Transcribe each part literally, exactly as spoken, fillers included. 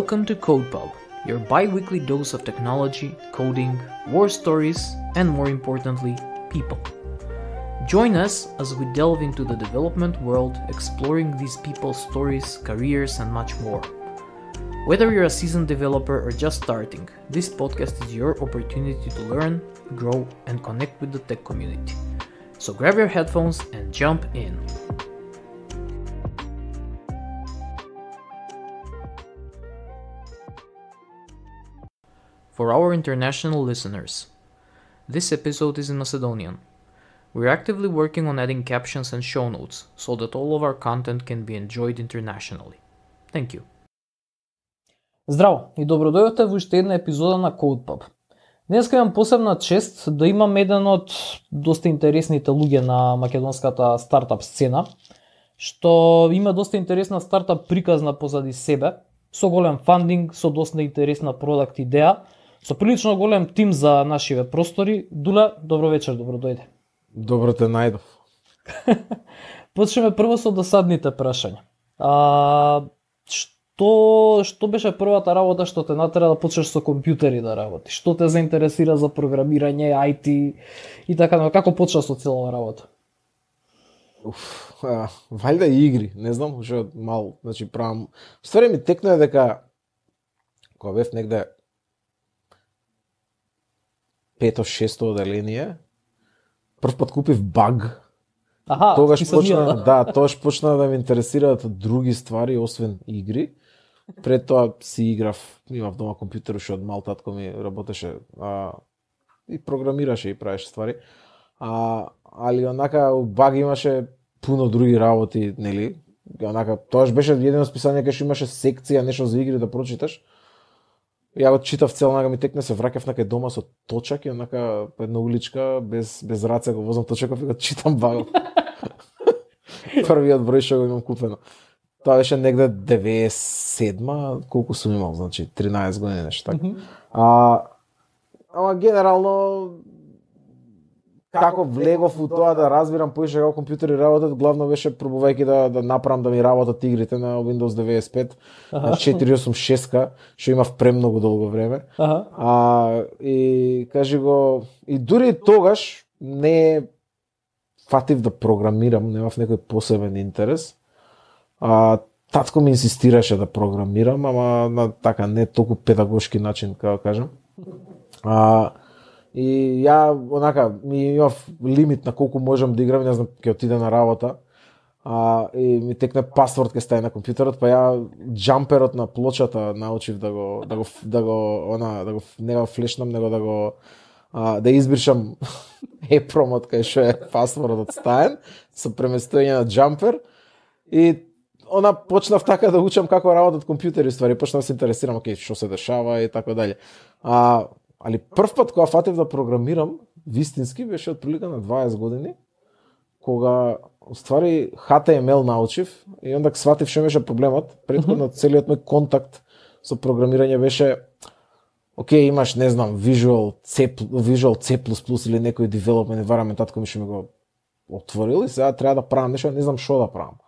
Welcome to CodePub, your bi-weekly dose of technology, coding, war stories, and more importantly, people. Join us as we delve into the development world, exploring these people's stories, careers, and much more. Whether you're a seasoned developer or just starting, this podcast is your opportunity to learn, grow, and connect with the tech community. So grab your headphones and jump in. For our international listeners, this episode is in Macedonian. We're actively working on adding captions and show notes so that all of our content can be enjoyed internationally. Thank you. Здраво и добродојдовте во уште една епизода на CodePub. Денеска имам посебна чест да имам еден од доста интересните луѓе на македонската стартап сцена, што има доста интересна стартап приказна позади себе, со голем фандинг, со доста интересна продакт идеја, со прилично голем тим за нашиве простори. Дуле, добро вечер, добро дојде. Добро те најдов. Почнеме прво со досадните прашања. А, што што беше првата работа што те натера да почнеш со компјутери да работиш? Што те заинтересира за програмирање, ај ти и така, но како почна со целава работа? Уф, а, валјда игри, не знам, уште од мал, значи правам. Ствари ми текнува дека кога бев негде пето-шесто оделение, прв пат купив баг. Аха, тогаш писанија, почна, да. да, тогаш почна да ме интересираат други ствари освен игри. Пред тоа си играв, имав дома компјутер уште од мал, татко ми работеше а, и програмираше и правеше ствари. А, али онака у баг имаше пуно други работи, нели? Онака тогаш беше едно списание кај што имаше секција нешто за игри да прочиташ. Ја го читав цел, онака ми текне, се враќав на кај дома со точак и онака по една уличка без без раце го возам точаков и го читам багот. Првиот број што го имам купено. Тоа беше негде деветдесет и седма, колку сум имал, значи тринаесет години нешто така. Мгм. А ама генерално како влегов у тоа да разбирам поише како компјутери работат, главно беше пробувајќи да да направам да ми работат игрите на Windows деветдесет и пет, Аха. на четири осум шест, што имав премногу долго време. Аха. А и кажи го, и дури тогаш не фатив да програмирам, немав некој посебен интерес. А татко ми инсистираше да програмирам, ама на така не толку педагошки начин, како кажам. А и ја онака ми имав лимит на колку можам да играм, не знам, ќе отиде на работа. А и ми текне пасворд ќе стаje на компјутерот, па ја џамперот на плочата научив да го да го да го она да го не го флешнам, него да го а, да избришам епромот кај што е пасвордот стаен со преместување на џампер и она почнав така да учам како работат компјутери, ствари почнав да се интересирам, окей, што се дешава и така дале. А али прв пат кога фатив да програмирам вистински беше отприлика на дваесет години, кога ствари H T M L научив и онда сватив што беше проблемот. Претходно целиот мој контакт со програмирање беше окей, имаш, не знам, Visual C, Visual C++ или некој development environment, татко ми што ми го отворил и сега треба да правам нешто, не знам што да правам.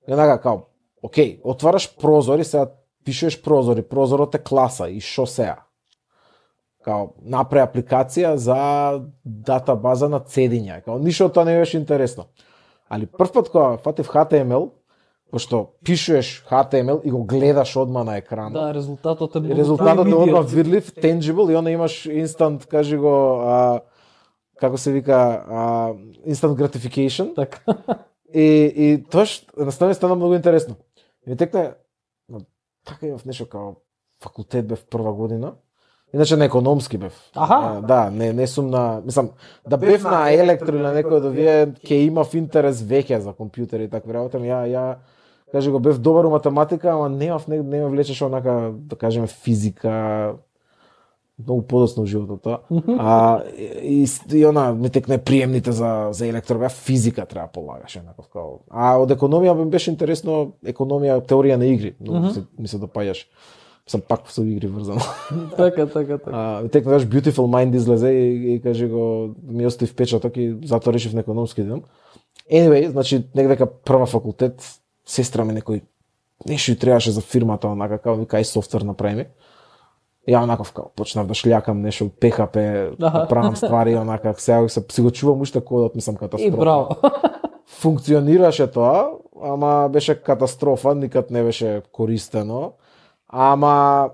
И онака као, окей, отвараш прозор и сега пишеш прозор и прозорот е класа и што сега? Као, направи апликација за датабаза на цедиња. Као, ништо тоа не беше интересно. Али прв пат кога фатив H T M L, пошто пишеш H T M L и го гледаш одма на екран. Да, резултатот е многу Резултатот е immediate. одма видлив, tangible и onda имаш instant, кажи го, а, како се вика, а, instant gratification. Така. И, и тоа што наставно стана многу интересно. И ми текне, но, така имав нешто као факултет бев прва година. Иначе на економски бев. Аха. А, да, не не сум на, мислам, да бев на електро или на некој да вие ќе имав интерес веќе за компјутери и такви работи, ја ја кажи го бев добар у математика, ама немав не не ме влечеше онака да кажеме физика. Многу подоцна во животот тоа. А и, и она ми текне приемните за за електро, бев физика треба полагаш еднаков као. А од економија ми беше интересно економија, теорија на игри, но Мгм. се, ми се допаѓаш. Сам пак со игри врзано. Така, така, така. А ми текне даш Beautiful Mind излезе и, и кажи го ми остави впечаток и затоа решив на економски да идам. Anyway, значи негде дека прва факултет, сестра ми некој нешто и требаше за фирмата, онака као кај софтвер направи. Ја онаков као почнав да шљакам нешто Пе Ха Пе, да правам ствари онака, сега се си го чувам уште кодот, мислам катастрофа. И браво. Функционираше тоа, ама беше катастрофа, никад не беше користено. Ама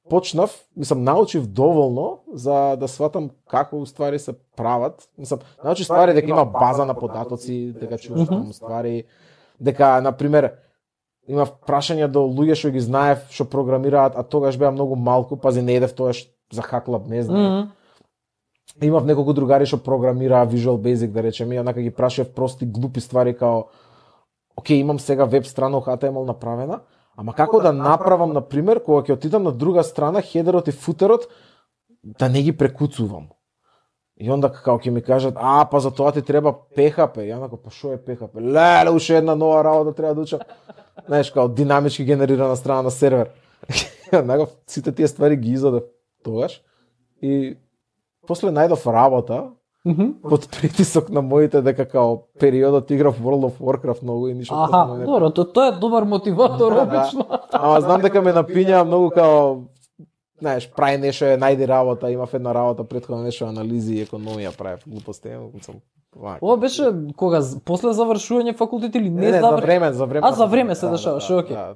почнав, мислам, научив доволно за да сватам како ствари се прават. Мислам, научив ствари дека има база на податоци, дека чуваш mm-hmm. ствари, дека на пример има прашања до луѓе што ги знаев, што програмираат, а тогаш беа многу малку, пази не едев тогаш за хаклаб, не знам. Mm-hmm. Имав неколку другари што програмираа Visual Basic, да речеме, и онака ги прашав прости глупи ствари као окей, имам сега веб страна Х Т М Л направена, ама како да направам, на пример, кога ќе отидам на друга страна, хедерот и футерот, да не ги прекуцувам. И онда како ќе ми кажат, а, па за тоа ти треба Пе Ха Пе. Ја нако, па шо е Пе Ха Пе? Леле, уште една нова работа треба да учам. Знаеш, као динамички генерирана страна на сервер. Нако, сите тие ствари ги изодев тогаш. И после најдов работа, mm-hmm. под притисок на моите дека као периодот играв World of Warcraft многу и ништо. Аха, не... добро, то, тоа е добар мотиватор, обично. Ама знам дека ме напиња многу као, знаеш, прави нешто, најди работа, имав една работа претходно нешто анализи и економија правев, глупости, сум. Ова беше кога после завршување факултет или не, не, не завр... за време, за време. А за време се да, дешаваше, да, окей. Да.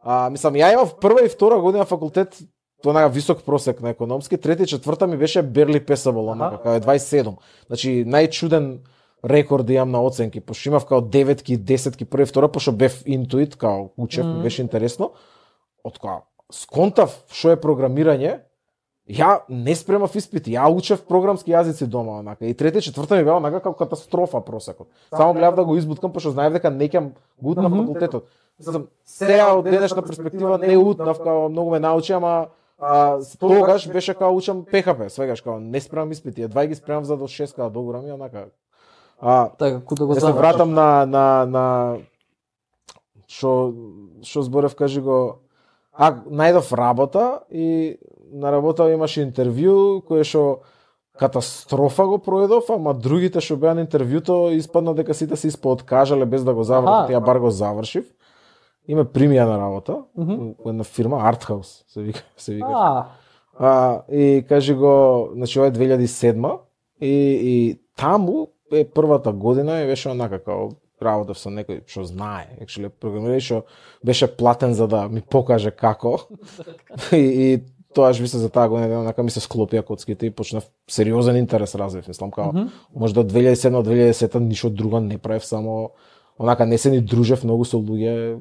А мислам, ја имав прва и втора година факултет, тоа висок просек на економски, трета и четврта ми беше barely passable, онака, као е дваесет и седум. Значи, најчуден рекорд имам на оценки, пошто имав као деветки, десетки, прва и втора, пошто бев интуит, као учев, mm-hmm. беше интересно. Од кога сконтав што е програмирање, ја не спремав испити, ја учев програмски јазици дома, онака. И трета и четврта ми беа онака како катастрофа просекот. Само гледав да го избуткам, пошто знаев дека не ќе гутнав mm-hmm. факултетот. Знам, сега од денешна перспектива не утнав, као многу ме научи, ама а, тогаш беше као учам Пе Ха Пе, свегаш као не спремам испити, едва ги спремам за до шест као догорам и онака. А, така, куда го да се вратам на на на што што зборев, кажи го. А најдов работа и на работа имаше интервју кое што катастрофа го проедов, ама другите што беа на интервјуто испадна дека сите се испооткажале без да го завршат, ја бар го завршив. И ме примија на работа, mm-hmm. една фирма Arthouse се вика, се викаш. А. а и кажи го, значи ова е две илјади и седма и и таму е првата година и беше онака као работев со некој што знае, actually програмира, што беше платен за да ми покаже како. и, и тоаш би се за таа година онака ми се склопија коцките и почнав сериозен интерес развив, мислам као mm-hmm. можда две илјади и седма две илјади и десета ништо друго не правев, само онака не се ни дружев многу со луѓе.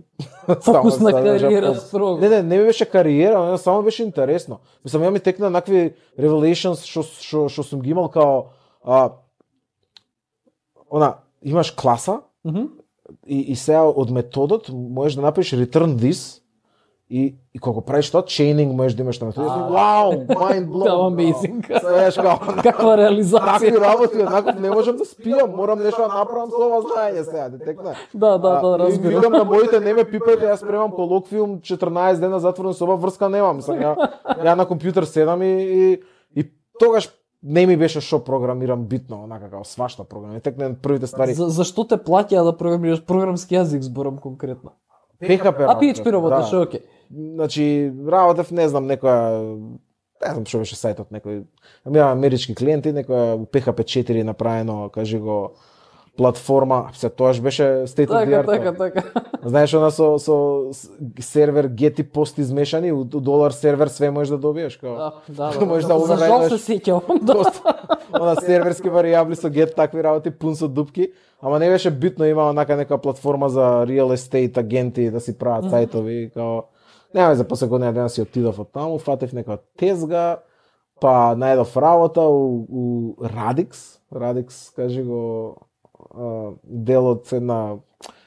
Фокус на кариера строго. Не, не, не ми беше кариера, не, само беше интересно. Мислам, ја ми текна накви revelations што што што сум ги имал као а, она имаш класа mm-hmm. и и сега од методот можеш да направиш return this и и кога правиш тоа chaining можеш да имаш на методот. Вау, mind blown. Тоа amazing. Знаеш како каква реализација. Такви работи, однаков не можам да спијам, морам нешто да направам со ова знаење сега, ти текна. Да, да, да, разбирам. Викам на моите не ме пипајте, јас спремам колоквиум четрнаесет дена затворен соба, врска немам. Мислам, ја, ја на компјутер седам и, и и тогаш не ми беше што програмирам битно, онака како свашта програми. Текна првите ствари. За, зашто те плаќаа да програмираш програмски јазик, зборам конкретно? Пе Ха Пе. А Пи Еич Пи работаш, да. Окей. Значи, работев, не знам, некоја, не знам што беше сајтот, некој, имам амерички клиенти, некоја Пе Ха Пе четири направено, кажи го, платформа, се тоаш беше state of the art. Така, така, така. Знаеш, она со, со сервер get и пост измешани, у долар сервер све можеш да добиеш, као. Да, да, да. Можеш да За жал се сеќавам. Она серверски варијабли со get такви работи, пун со дупки. Ама не беше битно, има онака нека платформа за real estate агенти да си прават mm-hmm. сајтови, као нема за после година дена си отидов од таму, фатев нека тезга, па најдов работа у, у Radix, Radix, кажи го, дел од една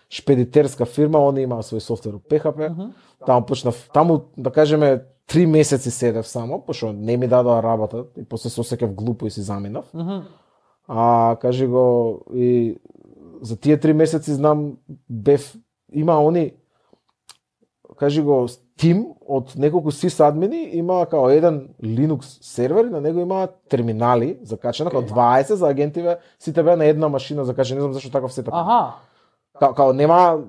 шпедитерска фирма, они имаа свој софтвер у Пе Ха Пе. Mm-hmm. Таму почнав, таму да кажеме три месеци седев само, пошто не ми дадоа работа и после се осеќав глупо и си заминав. Mm-hmm. А кажи го и за тие три месеци знам бев има они кажи го тим од неколку сисадмини, има као еден Linux сервер и на него има терминали закачена, као дваесет за агентиве, сите беа на една машина закачени, не знам зашто таков сетап. Аха. Као, као нема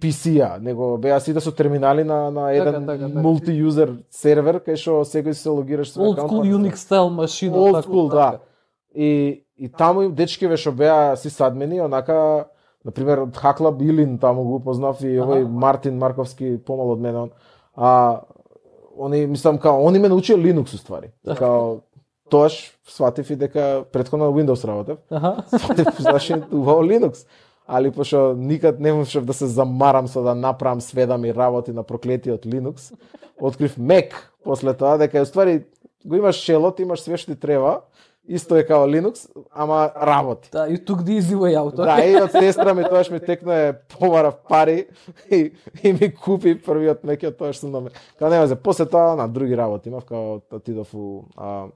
пи си-а, него беа сите со терминали на на еден така, така. мулти-јузер сервер кај што секој се логираш со Old school Unix style машина. Old така, school, така. да. И и таму им дечкиве што беа сисадмени, онака на пример од Хакла Билин таму го познав и овој Мартин Марковски помал од мене он. А они мислам као они ме научија Linux уствари. Као тоаш сватив и дека претходно Windows работев. Аха. Сватив зашто убаво Linux. Али пошто никад не можев да се замарам со да направам све да ми работи на проклетиот Linux, открив Mac после тоа дека уствари го имаш шелот, имаш све што ти треба, исто е као Linux, ама работи. Да, you took the easy way out. Да, и од сестра ми тоаш ми текна помара пари и, и ми купи првиот Mac од тоа што сум на Mac. Као нема се, после тоа на други работи имав, као отидов у а,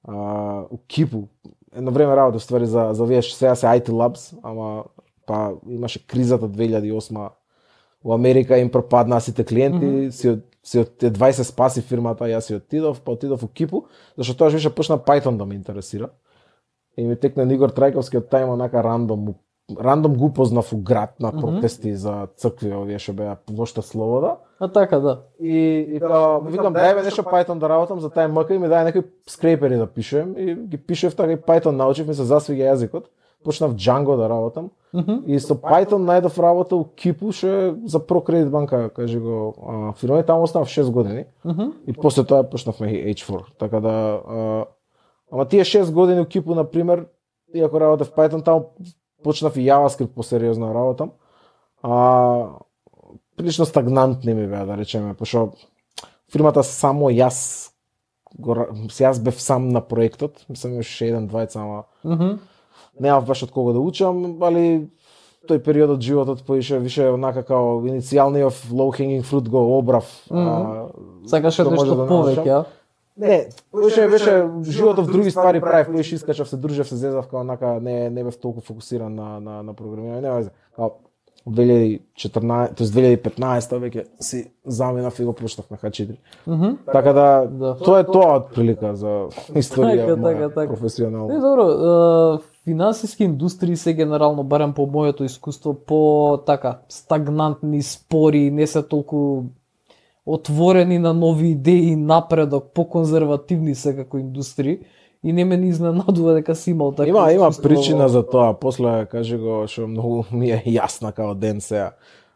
а, у Кипу. Едно време работев ствари за за вие сега се ай ти Labs, ама па имаше кризата две илјади и осма во Америка, им пропаднаа сите клиенти, mm -hmm. си од си од дваесет спаси фирмата, јас си отидов, па отидов у Кипу, зашто тоа више почна Python да ме интересира. И ми текна Игор Трајковски од тајма онака рандом, рандом го познав у град на протести mm -hmm. за цркви, овие што беа ношта слобода. А така, да. И, и као, викам, дај бе нешто Python да работам за тај МК и ми дај некои скрепери да пишем и ги пишев така и Python научив, ми се засвига јазикот. Почнав Django да работам. Mm -hmm. И со Python најдов работа у Кипу, што е за ProCredit банка, кажи го, а, фирма, таму останав шест години. Mm -hmm. И после тоа почнавме еич фор. Така да, а, ама тие шест години у Кипу, на пример, иако работев Python, таму почнав и JavaScript посериозно да работам. А, прилично стагнантни ми беа, да речеме, пошто фирмата само јас, го, јас бев сам на проектот, мислам имаше еден двајца, ама mm -hmm. немав баш од кого да учам, али тој период од животот поише више онака као иницијалниот low hanging fruit го обрав. Mm -hmm. Сакаше нешто да повеќе, а? Не, поише беше животот в други ствари правев, поише искачав се, дружев се, зезав као онака не не бев толку фокусиран на на на програмирање, нема везе. Као две илјади и четрнаесета, тоест две илјади и петнаесета веќе си заминав и го почнав на Х четири. Mm -hmm. Така да, да, тоа е тоа од прилика за историја така, моја така, така. професионална. Не, добро, е, финансиски индустрии се генерално, барем по моето искуство, по така стагнантни, спори, не се толку отворени на нови идеи, напредок, по-конзервативни се како индустрии. И не ме ни изненадува дека си имал така. Има има причина за тоа, после кажи го што многу ми е јасна као ден сега.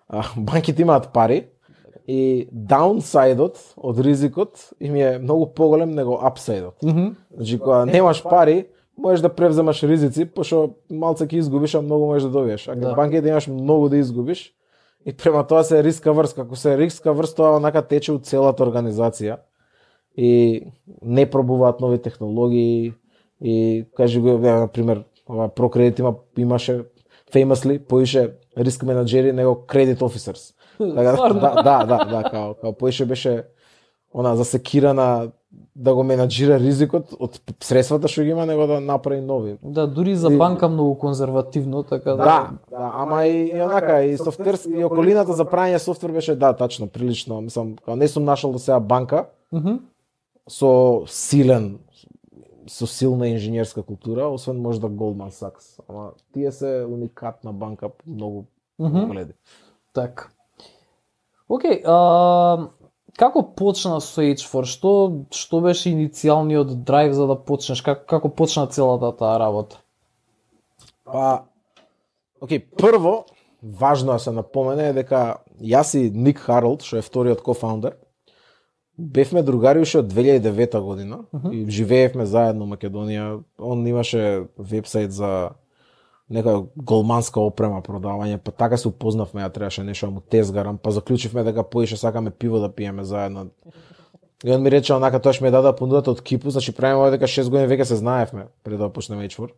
А, банките имаат пари и даунсайдот од ризикот им е многу поголем него апсайдот. Mm -hmm. Значи кога немаш пари, можеш да превземаш ризици, пошто малце ќе изгубиш, а многу можеш да добиеш. А да. банките имаш многу да изгубиш. И према тоа се риска врз, како се риска врз, тоа онака тече у целата организација. И не пробуваат нови технологии и кажи го, на пример, ова ProCredit има имаше famously поише риск менаџери него credit officers. Така да, да, да, да, као, као поише беше она засекирана да го менаџира ризикот од средствата што ги има, него да направи нови. Да, дури за банка многу конзервативно, така да. Да, да, ама и, и онака и софтверски и околината за прање софтвер беше да, тачно, прилично, мислам, као не сум нашол до сега банка. Мхм. Со силен, со силна инженерска култура, освен можда Goldman Sachs. Ама тие се уникатна банка по многу погледи. Така. Океј, а како почна со еич фор? Што што беше иницијалниот драйв за да почнеш? Како како почна целата таа работа? Па, океј, прво важно да се напомене е дека јас и Ник Харолд, што е вториот кофаундер, бевме другари уште од две илјади и девета година uh -huh. и живеевме заедно во Македонија. Он имаше вебсайт за нека голманска опрема продавање, па така се упознавме, ја требаше нешто да му тезгарам, па заклучивме дека поише сакаме пиво да пиеме заедно. И он ми рече онака, тоа што ми даде понудата од Кипу, значи правиме дека шест години веќе се знаевме пред да почнеме еич фор.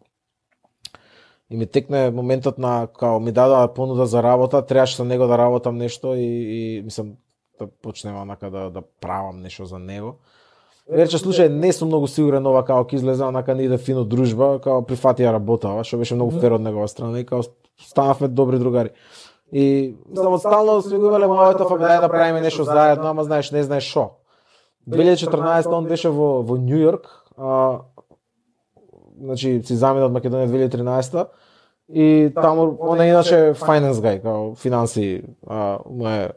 И ми текне моментот на као ми даде понуда за работа, требаше со него да работам нешто и, и мислам да почнеме онака да да правам нешто за него. Рече, слушај, не сум многу сигурен ова као ќе излезе, онака не иде фино дружба, као прифатија работава, што беше многу фер од негова страна и као станавме добри другари. И мислам од стално сме го имале моето фабедај да правиме нешто заедно, ама знаеш, не знаеш шо. две илјади и четрнаесета он беше во во Њујорк, а значи си замина од Македонија две илјади и тринадесета И таму он е иначе finance guy, као финанси, а му е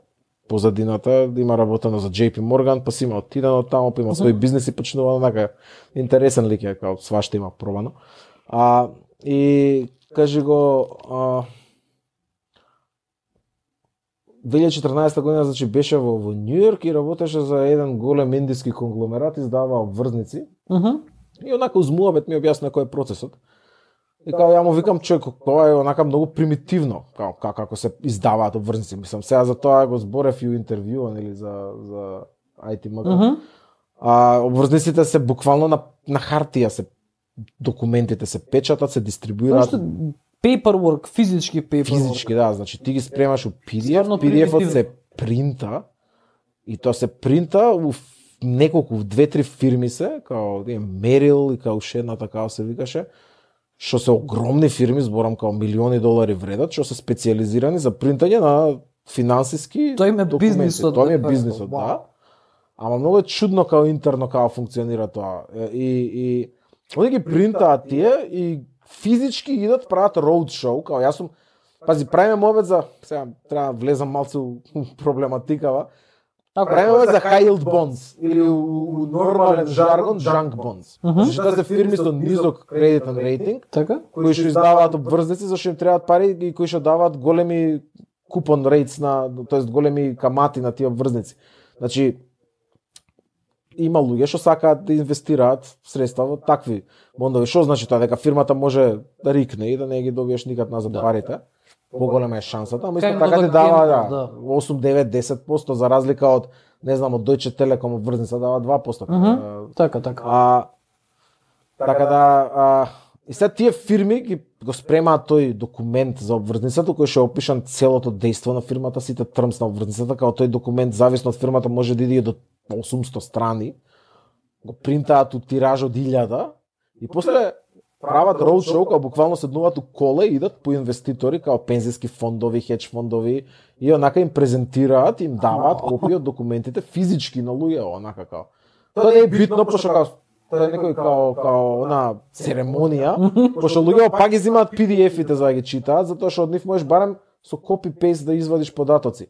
позадината, да има работено за J P Morgan, па си има отидено таму, па има свој бизнес и почнува онака интересен лик е, као свашта има пробано. А и кажи го а, две илјади и четрнаесета година, значи беше во, во Нью Йорк и работеше за еден голем индиски конгломерат, издаваа обврзници. Uh -huh. И онака узмуабет ми објасна кој е процесот. И као ја му викам човек, тоа е онака многу примитивно, као како како се издаваат обврзници. Мислам сега за тоа го зборев и у интервју или за за ай ти М Г. Uh -huh. А обврзниците се буквално на на хартија се документите се печатат, се дистрибуираат. Paperwork, физички paperwork. Физички, да, значи ти ги спремаш у Пи Ди Еф, Пи Ди Еф-от се принта и тоа се принта у неколку, две-три фирми се, као Мерил и као уште една такава се викаше, што се огромни фирми, зборам као милиони долари вредат, што се специјализирани за принтање на финансиски Тоа им е документи. бизнисот. Тоа е бизнисот, да. Ама многу е чудно као интерно као функционира тоа. И и они ги принтаат тие и физички идат прават роудшоу, као јас сум, пази, правиме мовет за, сега треба да влезам малце у проблематикава, правиме мовет за high yield bonds, или у, у нормален жаргон junk bonds. Uh -huh. Значи тоа се фирми со низок кредитен рейтинг, Така? кои што издаваат обврзници зашто им требаат пари и кои што даваат големи купон рейтс на, тоест големи камати на тие обврзници. Значи има луѓе што сакаат да инвестираат средства во такви бондови. Што значи тоа? Дека фирмата може да рикне и да не ги добиеш никад назад Да. парите. Поголема е шансата, ама исто Кај така да ти дава генерал, да, да. осум, девет, десет проценти за разлика од, не знам, од Deutsche Telekom обврзница дава два проценти. Uh -huh. Така, така. А така да а, и сега тие фирми ги го спремаат тој документ за обврзницата кој што е опишан целото дејство на фирмата, сите термс на обврзницата, као тој документ зависно од фирмата може да иде до осумсто страни. Го принтаат у тираж од илјада и после прават роудшоу, као буквално седнуваат у кола и идат по инвеститори, као пензиски фондови, хедж фондови и онака им презентираат, им даваат копии од документите физички на луѓе, онака као. Тоа не е битно, пошто као тоа е некој као као она церемонија, пошто луѓе пак ги земаат Пи Ди Еф-ите за да ги читаат, затоа што од нив можеш барем со копи пейст да извадиш податоци.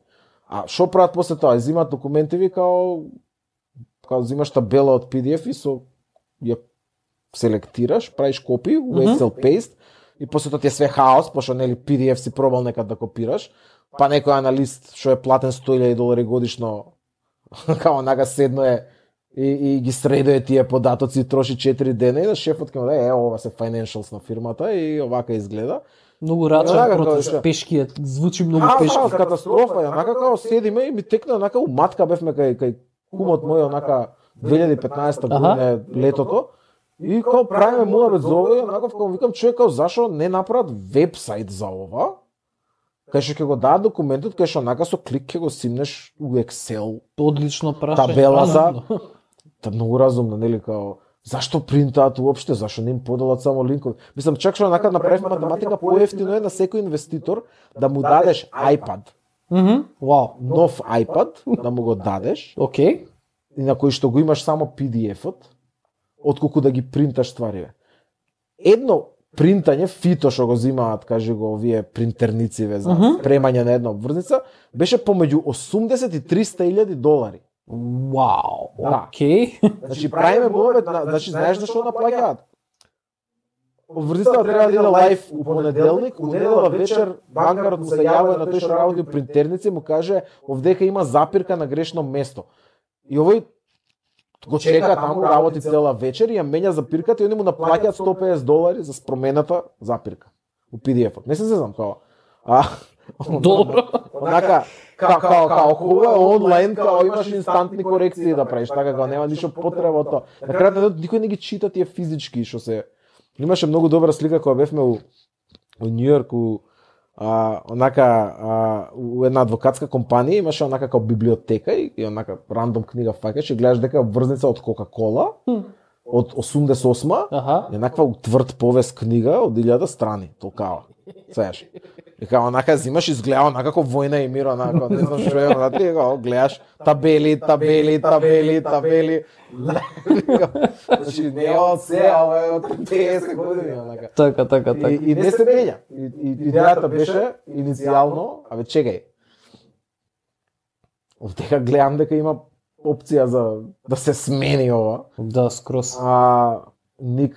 А што прават после тоа? Земаат документиви као као земаш табела од Пи Ди Еф и со ја селектираш, правиш копи, у Excel paste и после тоа ти е све хаос, пошто нели Пи Ди Еф си пробал некад да копираш, па некој аналист што е платен сто илјади долари годишно као онака седно е и, и ги средуе тие податоци, троши четири дена и на шефот ќе му даде, е, ова се financials на фирмата и овака изгледа. Многу рачен Онака, процес, као, пешки е, звучи многу А, пешки. а, катастрофа, ја, онака као седиме и ми текна онака у матка бевме кај кај кумот мој онака две илјади и петнаесета година е летото. И као правиме муабет за ова, и онака као викам човек као зашо не направат вебсайт за ова? Кај што ќе го дадат документот, кај што онака со клик ќе го симнеш у Excel Одлично прашање. табела за разумно. та многу разумно, нели као зашто принтаат уопште, зашто не им подалат само линкови. Мислам чак што онака направив математика поевтино е на секој инвеститор да му дадеш iPad, Мгм. Вау. нов iPad, да му го дадеш Океј. и на кој што го имаш само Пи Ди Еф-от, отколку да ги принташ ствариве. Едно принтање, фито што го земаат, кажи го, овие принтернициве за спремање на една обврзница, беше помеѓу осумдесет и триста илјади долари. Вау. Да. Океј. Значи правиме мовет, значи знаеш на што наплаќаат? Обврзницата треба да иде лајф у понеделник, у недела вечер банкарот му се јавува на тој што работи у принтерници и му каже овдека има запирка на грешно место. И овој го чека таму, работи цела вечер и ја менја запирката и они му наплаќаат сто и педесет долари за промената запирка у Пи Ди Еф-от. Не се знам као. А Добро. онака као као као хубаво е онлайн, као имаш инстантни корекции да правиш, така као нема ништо потреба од тоа. На крајот никој не ги чита тие физички што се. Имаше многу добра слика кога бевме у у Нью Йорк у а, онака а, у една адвокатска компанија имаше онака како библиотека и, и онака рандом книга фаќаш и гледаш дека е обврзница од Кока-кола од осумдесет и осма Аха. еднаква тврд повест книга од илјада страни, толкава. Сееш. И као онака взимаш изгледа онака како војна и мир, онака, не знам што е, онака, ти као гледаш табели, табели, табели, табели. Значи не е од се, ова е од петдесет години, онака. Така, така, така. И, и не се менја. И, и идејата беше иницијално, абе чекај. Овдека гледам дека има опција за да се смени ова. Да, скрос. А Ник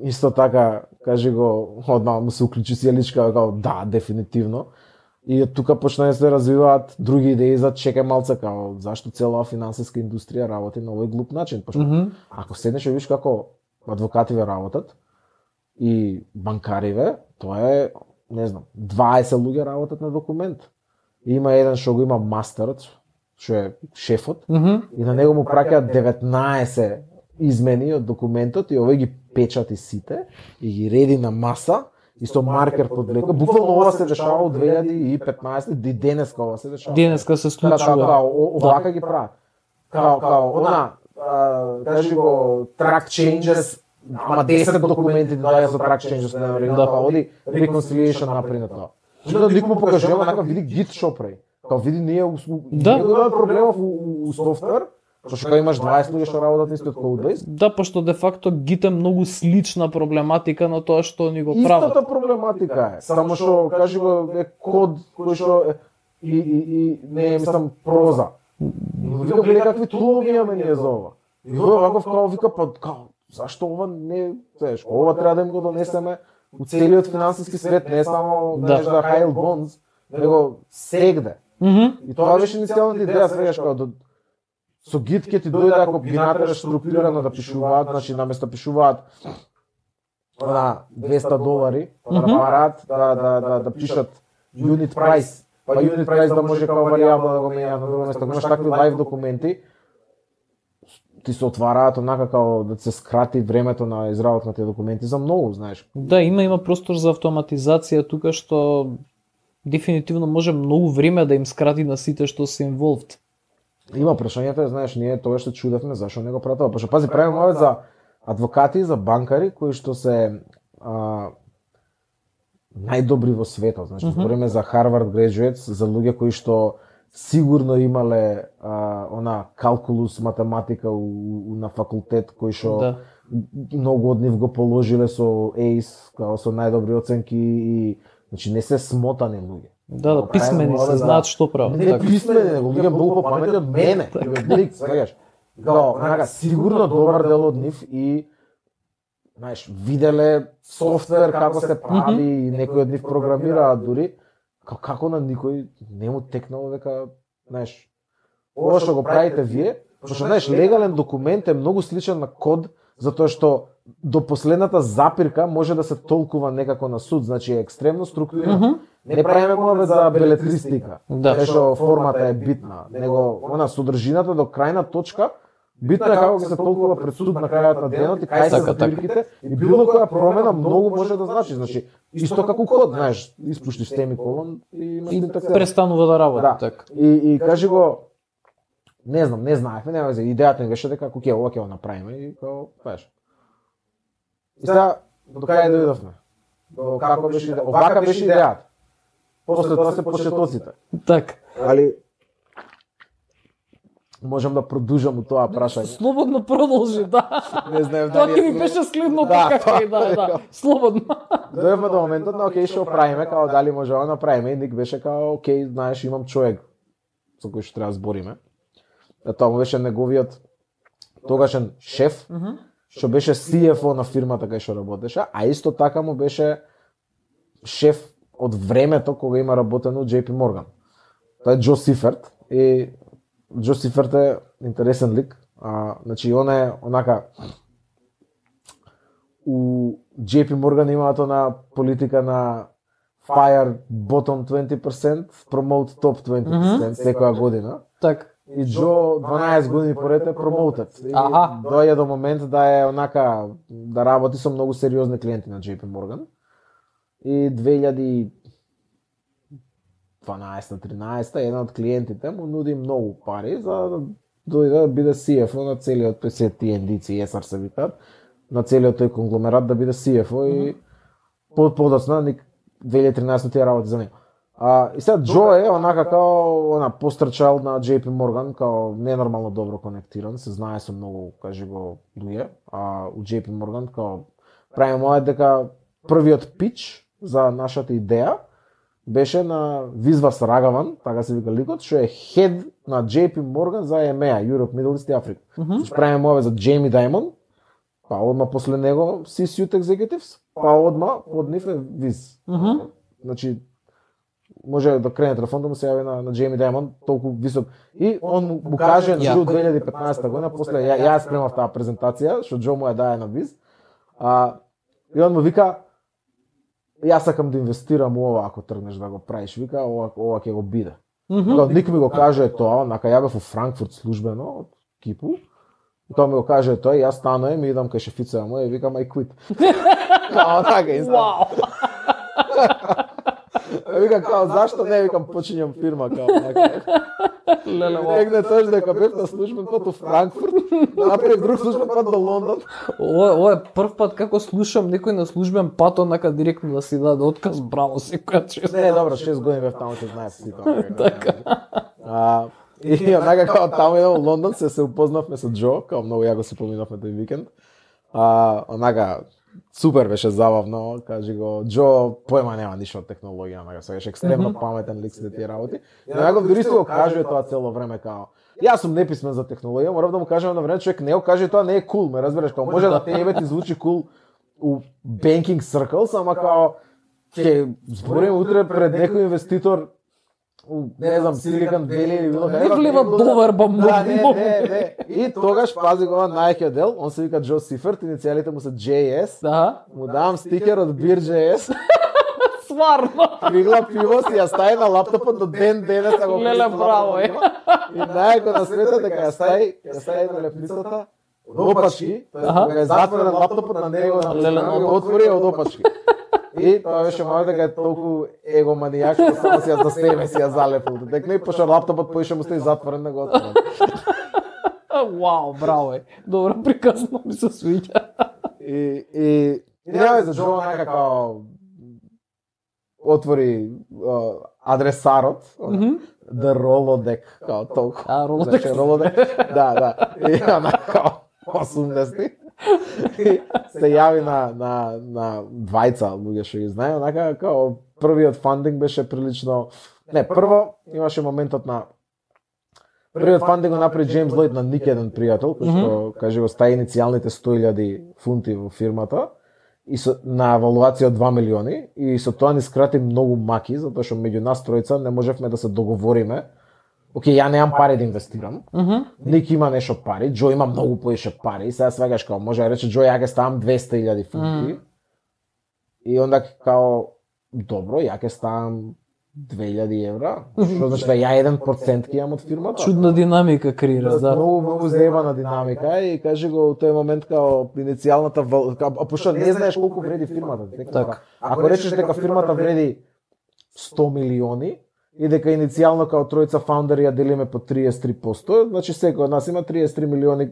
исто така, кажи го, одма му се уклучи сијаличка, као да, дефинитивно. И од тука почна да се развиваат други идеи за чекај малце, као зашто цела финансиска индустрија работи на овој глуп начин. Пошто Mm -hmm. ако седнеш и видиш како адвокативе работат и банкариве, тоа е, не знам, дваесет луѓе работат на документ. И има еден што го има мастерот, што е шефот, Mm -hmm. и на него му праќаат деветнаесет измени од документот и овој ги печати сите и ги реди на маса и со маркер под леко. Буквално ова се дешава од две илјади и петнаесет, и денеска ова се дешава. Денеска се Така, случува. као, овака ги прават. Као, као, она, а, кажи го, track changes, ама десет документи ти даја за track changes, не вари, да, па оди reconciliation напри на тоа. Onda ник му покажува, онака, види Git што прави. Као, види, ние, Да. ние имаме проблемов у, у софтвер, зашто као имаш дваесет луѓе што работат истиот кодбейс. Да, пошто де факто Git е многу слична проблематика на тоа што ни го прават. Истата проблематика е, само што, кажи го, е код кој што е, и, и, и не е, мислам, проза. Вика, гледа какви тулови имаме ние за ова. И тој ваков као вика, па као, зашто ова не, знаеш, ова треба да им го донесеме у целиот финансиски свет, не само Да. знаеш да high bonds, него сегде. Мгм. И тоа беше иницијалната идеја, свегаш као да со Git ќе ти дојде ако ги натераш структурирано да пишуваат, значи наместо пишуваат на двеста долари, па да Мгм. направат да да да да пишат unit price, па unit price да може како варијабла да го менјаат на друго место. Ако имаш такви лайв документи, ти се отвараат онака како да се скрати времето на изработка на тие документи за многу, знаеш. Да, има има простор за автоматизација тука што дефинитивно може многу време да им скрати на сите што се involved. Има прашањето, знаеш, ние тоа што чудевме зашо не го прават тоа. Пошто пази, правиме ова за адвокати, за банкари кои што се а, најдобри во светот, значи Мгм. збориме за Harvard graduates, за луѓе кои што сигурно имале а, она калкулус математика у, у, на факултет кои што Да. многу од нив го положиле со ейс, као со најдобри оценки и значи не се смотани луѓе. Да, да, Го писмени правиме се, ова за- знаат што прават. Не така. писмени, него луѓе многу попаметни од мене. Блик, свегаш. Као, онака, сигурно добар дел од нив и знаеш, виделе софтвер како се прави и некои од нив програмираат дури. Као, како на никој не му текнало дека, знаеш, ова што го правите вие, пошто знаеш, легален документ е многу сличен на код, затоа што до последната запирка може да се толкува некако на суд, значи е екстремно структурирано. Мгм. Не правиме го за белетристика, Да. кај што формата е битна, него она содржината до крајна точка, битно е како ќе се толкува пред суд на крајот на денот и кај се Така, така. запирките и било која промена многу може да значи, значи исто како код, знаеш, испуштиш семиколон и имаш И синтаксера. престанува да работи Да. така. И, и кажи го, не знам, не знаевме, нема веќе, идејата ми беше дека ако ќе ова ќе го направиме и као, знаеш. И сега, до кај дојдовме? До како беше идеја? Овака беше идејата. После тоа се почетоците. Така. Али можам да продужам у тоа прашање. Слободно продолжи, да. Не знаев Тоа дали ќе ми беше следното Да, како тоа и да, е. да. Слободно. Дојдовме до моментот на окей што правиме, као дали може да направиме и Ник беше као окей, знаеш, имам човек со кој што треба да збориме. Да тоа му беше неговиот тогашен шеф, Мгм. што беше си еф о на фирмата кај што работеше, а исто така му беше шеф од времето кога има работено у J P Morgan. Тоа е Џо Сиферт и Џо Сиферт е интересен лик. А, значи он е онака у J P Morgan имаат она политика на fire bottom twenty percent, promote top twenty percent секоја година. Така. И Џо дванаесет години поред е промотет. И Аха. доаѓа до момент да е онака да работи со многу сериозни клиенти на J P Morgan. И две илјади и дванаесета тринаесета еден од клиентите му нуди многу пари за да дојде да биде си еф о на целиот П С Т Н Д Ц и Ес Ар се викаат, на целиот тој конгломерат да биде си еф о и под подоцна ник две илјади и тринадесета тие работи за него. А, и сега Джо е онака као она пострчал на Джей Пи Morgan, као ненормално добро конектиран, се знае со многу, кажи го, луѓе, а у Джей Пи Morgan као правиме мојот дека првиот пич за нашата идеја беше на Визвас Рагаван, така се вика ликот, што е хед на Джей Пи Morgan за Е Ем Е А, Europe, Middle East и Africa. Mm -hmm. Што правиме мојот за Джейми Даймонд, па одма после него C-Suite Executives, па одма од нив е Виз. Mm -hmm. Значи, може да крене телефон да му се јави на, на Джейми Даймонд, толку висок. И он му каже на Джо две илјади и петнаесета година, после ја, ја спремав таа презентација, што Джо му ја даде на Виз. А, и он му вика, јас сакам да инвестирам у ова ако тргнеш да го правиш, вика, ова, ова ќе го биде. Mm -hmm. Ник ми го каже тоа, онака ја бев во Франкфурт службено од Кипу. И тоа ми го каже тој, јас станувам и идам кај шефицата му и викам I quit. Као така инстан. Вау. Вика као зашто не, викам почињам фирма као така. Леле, негде тој дека бев на службен пат во Франкфурт, направив друг службен пат до Лондон. Ова ова е прв пат како слушам некој на службен пат онака директно да си даде отказ, браво секоја чест. Не, добро, шест години бев таму, се знае си тоа. Така. А и онака као таму еден во Лондон се се упознавме со Џо, као многу јако се поминавме тој викенд. А онака супер беше забавно, кажи го, Џо поема нема ништо од технологија, онака се беше екстремно паметен лик се тие работи. И онака дури се го кажува тоа цело време као јас сум неписмен за технологија, морав да му кажам на време човек не го каже тоа не е кул, ме разбираш, као може да тебе ти звучи кул у banking circles, ама као ќе збориме утре пред некој инвеститор не знам, Silicon Valley или било каде. Не влива доверба многу. Да, не, не, не. И тогаш пази го најаќиот дел, он се вика Џо Сиферт, иницијалите му се Джей Ес. Да. Му давам стикер од Beer.js. Сварно. Кригла пиво си ја стави на лаптопот до ден денес да го писам. Леле, браво е. И најако на светот дека ја стави, ја стави на лепницата од опачки, кога е затворен лаптопот на него, на го отвори од опачки. И тоа беше мојот дека е толку егоманијак, што само си ја за себе си ја залепил. Дека не пошто лаптопот поише му стои затворен на го отворен. Вау, браво е. Добро приказно ми се свиѓа. И и и нема за Џо нека као отвори uh, адресарот, mm-hmm. The Rolodex, као толку. А, Rolodex. Rolodex. Да, да. И она као осумдесети. И се јави на на на двајца луѓе што ги знае, онака као првиот фандинг беше прилично. Не, прво имаше моментот на првиот фандинг го направи Джеймс Лойд на ник еден пријател, кој што mm-hmm. каже го стаи иницијалните сто илјади фунти во фирмата и со на евалуација од два милиони и со тоа ни скрати многу маки, затоа што меѓу нас тројца не можевме да се договориме. Океј, ја немам пари да инвестирам. Mm -hmm. Ник има нешто пари, Џо има многу поише пари и сега свегаш као може да рече Џо ја ќе ставам двесте илјади фунти. Mm -hmm. И онда као добро, ја ќе ставам две илјади евра, што значи да ја еден процент ќе имам од фирмата. Чудна динамика креираш, да. Многу многу заебана динамика и кажи го у тој момент као иницијалната вал... а пошто не знаеш колку вреди фирмата, дека така. Ако речеш дека фирмата вреди сто милиони и дека иницијално као тројца фаундери ја делиме по триесет и три проценти, значи секој од нас има триесет и три милиони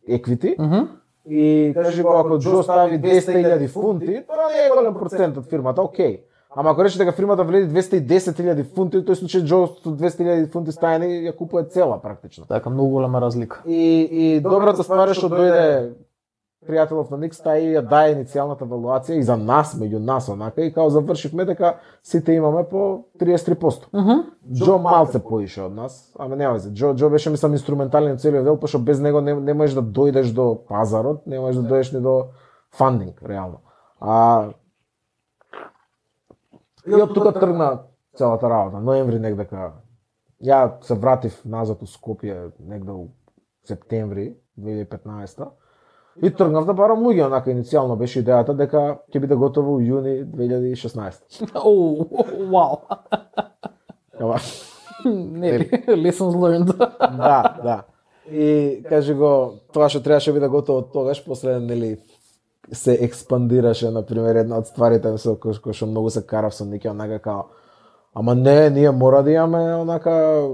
еквити. Mm -hmm. И кажи го ако Џо стави двесте илјади фунти, тоа не е голем процент од фирмата, окей. Ама ако рече дека фирмата вреди двесте и десет илјади фунти, тој случај Џо со двесте илјади фунти стајани ја купува цела практично. Така многу голема разлика. И и добрата ствар е што дојде пријателов на Ник стаи ја даде иницијалната евалуација и за нас, меѓу нас онака и као завршивме дека сите имаме по триесет и три проценти. Mm -hmm. Џо малце поише од нас, ама нема веќе. Џо Џо беше мислам инструментален целиот дел, пошто без него не, не можеш да дојдеш до пазарот, не можеш да дојдеш ни до фандинг реално. А и од тука тргна целата работа. Ноември негдека ја се вратив назад у Скопје негде у септември две илјади и петнаесета. И тргнав да барам луѓе, онака иницијално беше идејата дека ќе биде готово у јуни две илјади и шеснаесета. Оу, вау. Ама не, lessons learned. Да, да. И кажи го, тоа што требаше биде готово тогаш, после нели се експандираше, на пример, една од стварите со кој што многу се карав со Нике, онака као, ама не, ние мора да имаме онака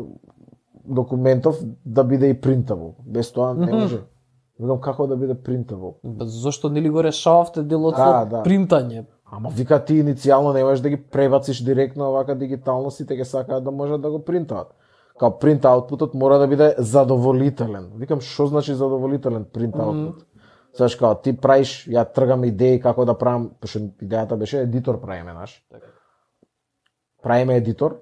документов да биде и принтабл. Без тоа не може. Видам како да биде принтабл. Зошто нели го решававте делот да, со да. принтање? Ама вика ти иницијално не можеш да ги пребациш директно овака дигитално, сите ќе сакаат да можат да го принтаат. Као принт аутпутот мора да биде задоволителен. Викам, што значи задоволителен принт аутпут? Mm. Знаеш, као ти правиш, ја тргам идеи како да правам, пошто идејата беше едитор правиме, наш. Правиме едитор.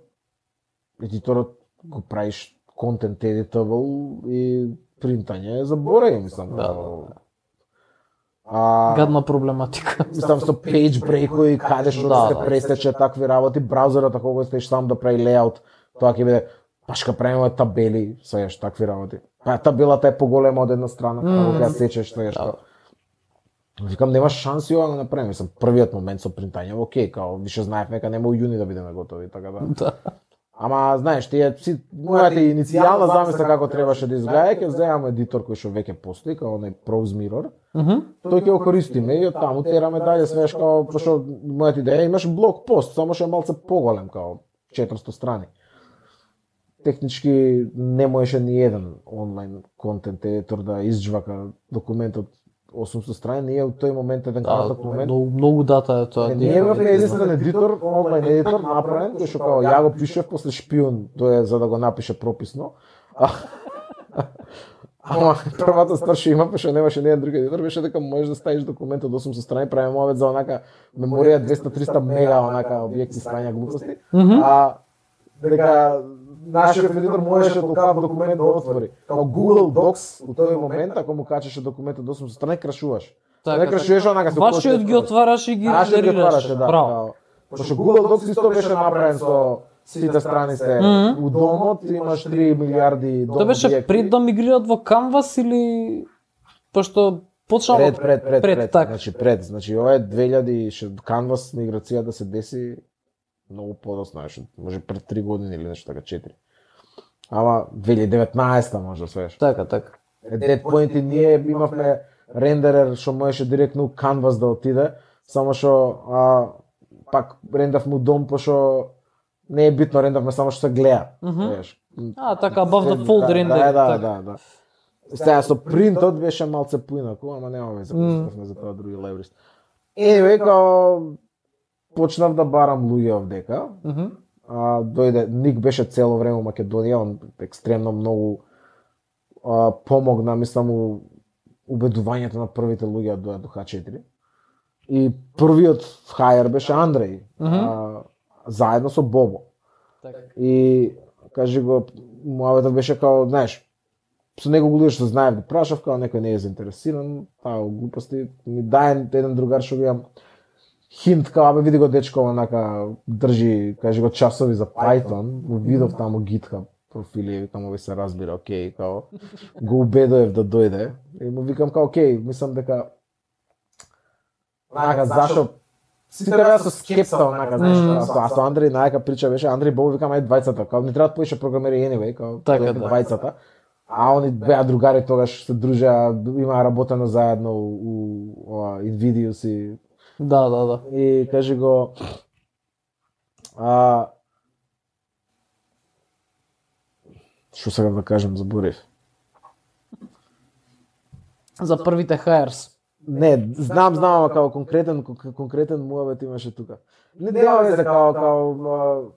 Едиторот го правиш content editable и принтање е заборави, мислам. Да, да. А, гадна проблематика. Мислам со page break-ови, каде што да, се пресече такви работи, браузерот ако го стеш сам да прави лејаут, тоа ќе биде пашка правиме табели, сееш такви работи. Па табелата е поголема од една страна, mm. кога ја сечеш, сееш. Да. Викам нема шанси ова да направиме, мислам првиот момент со принтање, окей, као више знаев нека нема у јуни да бидеме готови, така да. Да. Ама знаеш, тие си мојата иницијална замисла како требаше да изгледа, ќе земаме едитор кој што веќе постои, као оној Prose Mirror. Mm -hmm. Тој ќе го користиме и од таму тераме дале, свеш као пошто мојата идеја имаш блог пост, само што е малце поголем као четиристо страни. Технички не можеше ни еден онлайн контент едитор да изџвака документ од осумстотини страни, ние од тој момент еден краток да, момент. Многу, многу дата е тоа. Е, ние имавме единствен едитор, онлайн едитор направен, кој што као ја го пишев после шпион, тоа е за да го напише прописно. Ама првата стvar што има, пошто немаше ни еден друг едитор, беше дека можеш да ставиш документ од осумстотини страни, правиме овет за онака меморија двеста до триста мега, онака објекти страња глупости. Mm -hmm. А дека нашиот едитор можеше толкав документ да отвори. Како Google Docs у тој момент, ако му качеше документ од осумстотини страни, крашуваш. Така, не крашуваш онака со вашиот ги отвараш и ги генерираш. да. Браво. Пошто Google Docs исто беше направен со сите страни се mm -hmm. у домот, имаш три милиарди дом. Тоа беше пред да мигрираат во Canvas или пошто почнаа пред пред пред пред, так. значи пред, значи ова е две илјади Canvas миграција да се деси многу подоцна, може пред три години или нешто така четири. Ама две илјади и деветнаесета може да свеш. Така, така. At that point ние имавме рендерер што можеше директно у Canvas да отиде, само што а, пак рендавме у дом, пошто не е битно, рендавме само што се гледа. Mm -hmm. А, така, above the fold да, рендер. Да, да, да, да. Сега со принтот беше малце поинаку, ама нема веќе mm. за тоа други libraries. Anyway, као почнав да барам луѓе овдека. Mm -hmm. А, дојде, Ник беше цело време у Македонија, он екстремно многу а, помогна, мислам, у убедувањето на првите луѓе да дојдат до Х четири. И првиот хајер беше Андреј, mm -hmm. а, заедно со Бобо. Так. И кажи го, муаветот беше као, знаеш, со некој луѓе што знаев, да прашав, као некој не е заинтересиран, таа глупости, ми дај еден другар што го имам хинт, као, абе види го дечко, онака, држи, кажи го, часови за Python, го видов таму GitHub профили, викам, овој се разбира, окей, као, го убедоев да дојде, и му викам, као, окей, мислам дека, онака, зашо, сите беа со скепса, онака, знаеш, а со Андреј најака прича беше, Андреј Бобо, викам, ајде двајцата, као, не треба повеќе програмери anyway, као, така, да. двајцата, а они беа другари тогаш, се дружеа, имаа работено заедно у, у Invidious и да, да, да. И кажи го, а, што сега да кажем, заборев. За првите hires. Не, знам, знам, ама као конкретен, конкретен муавет имаше тука. Не нема везе, као, као,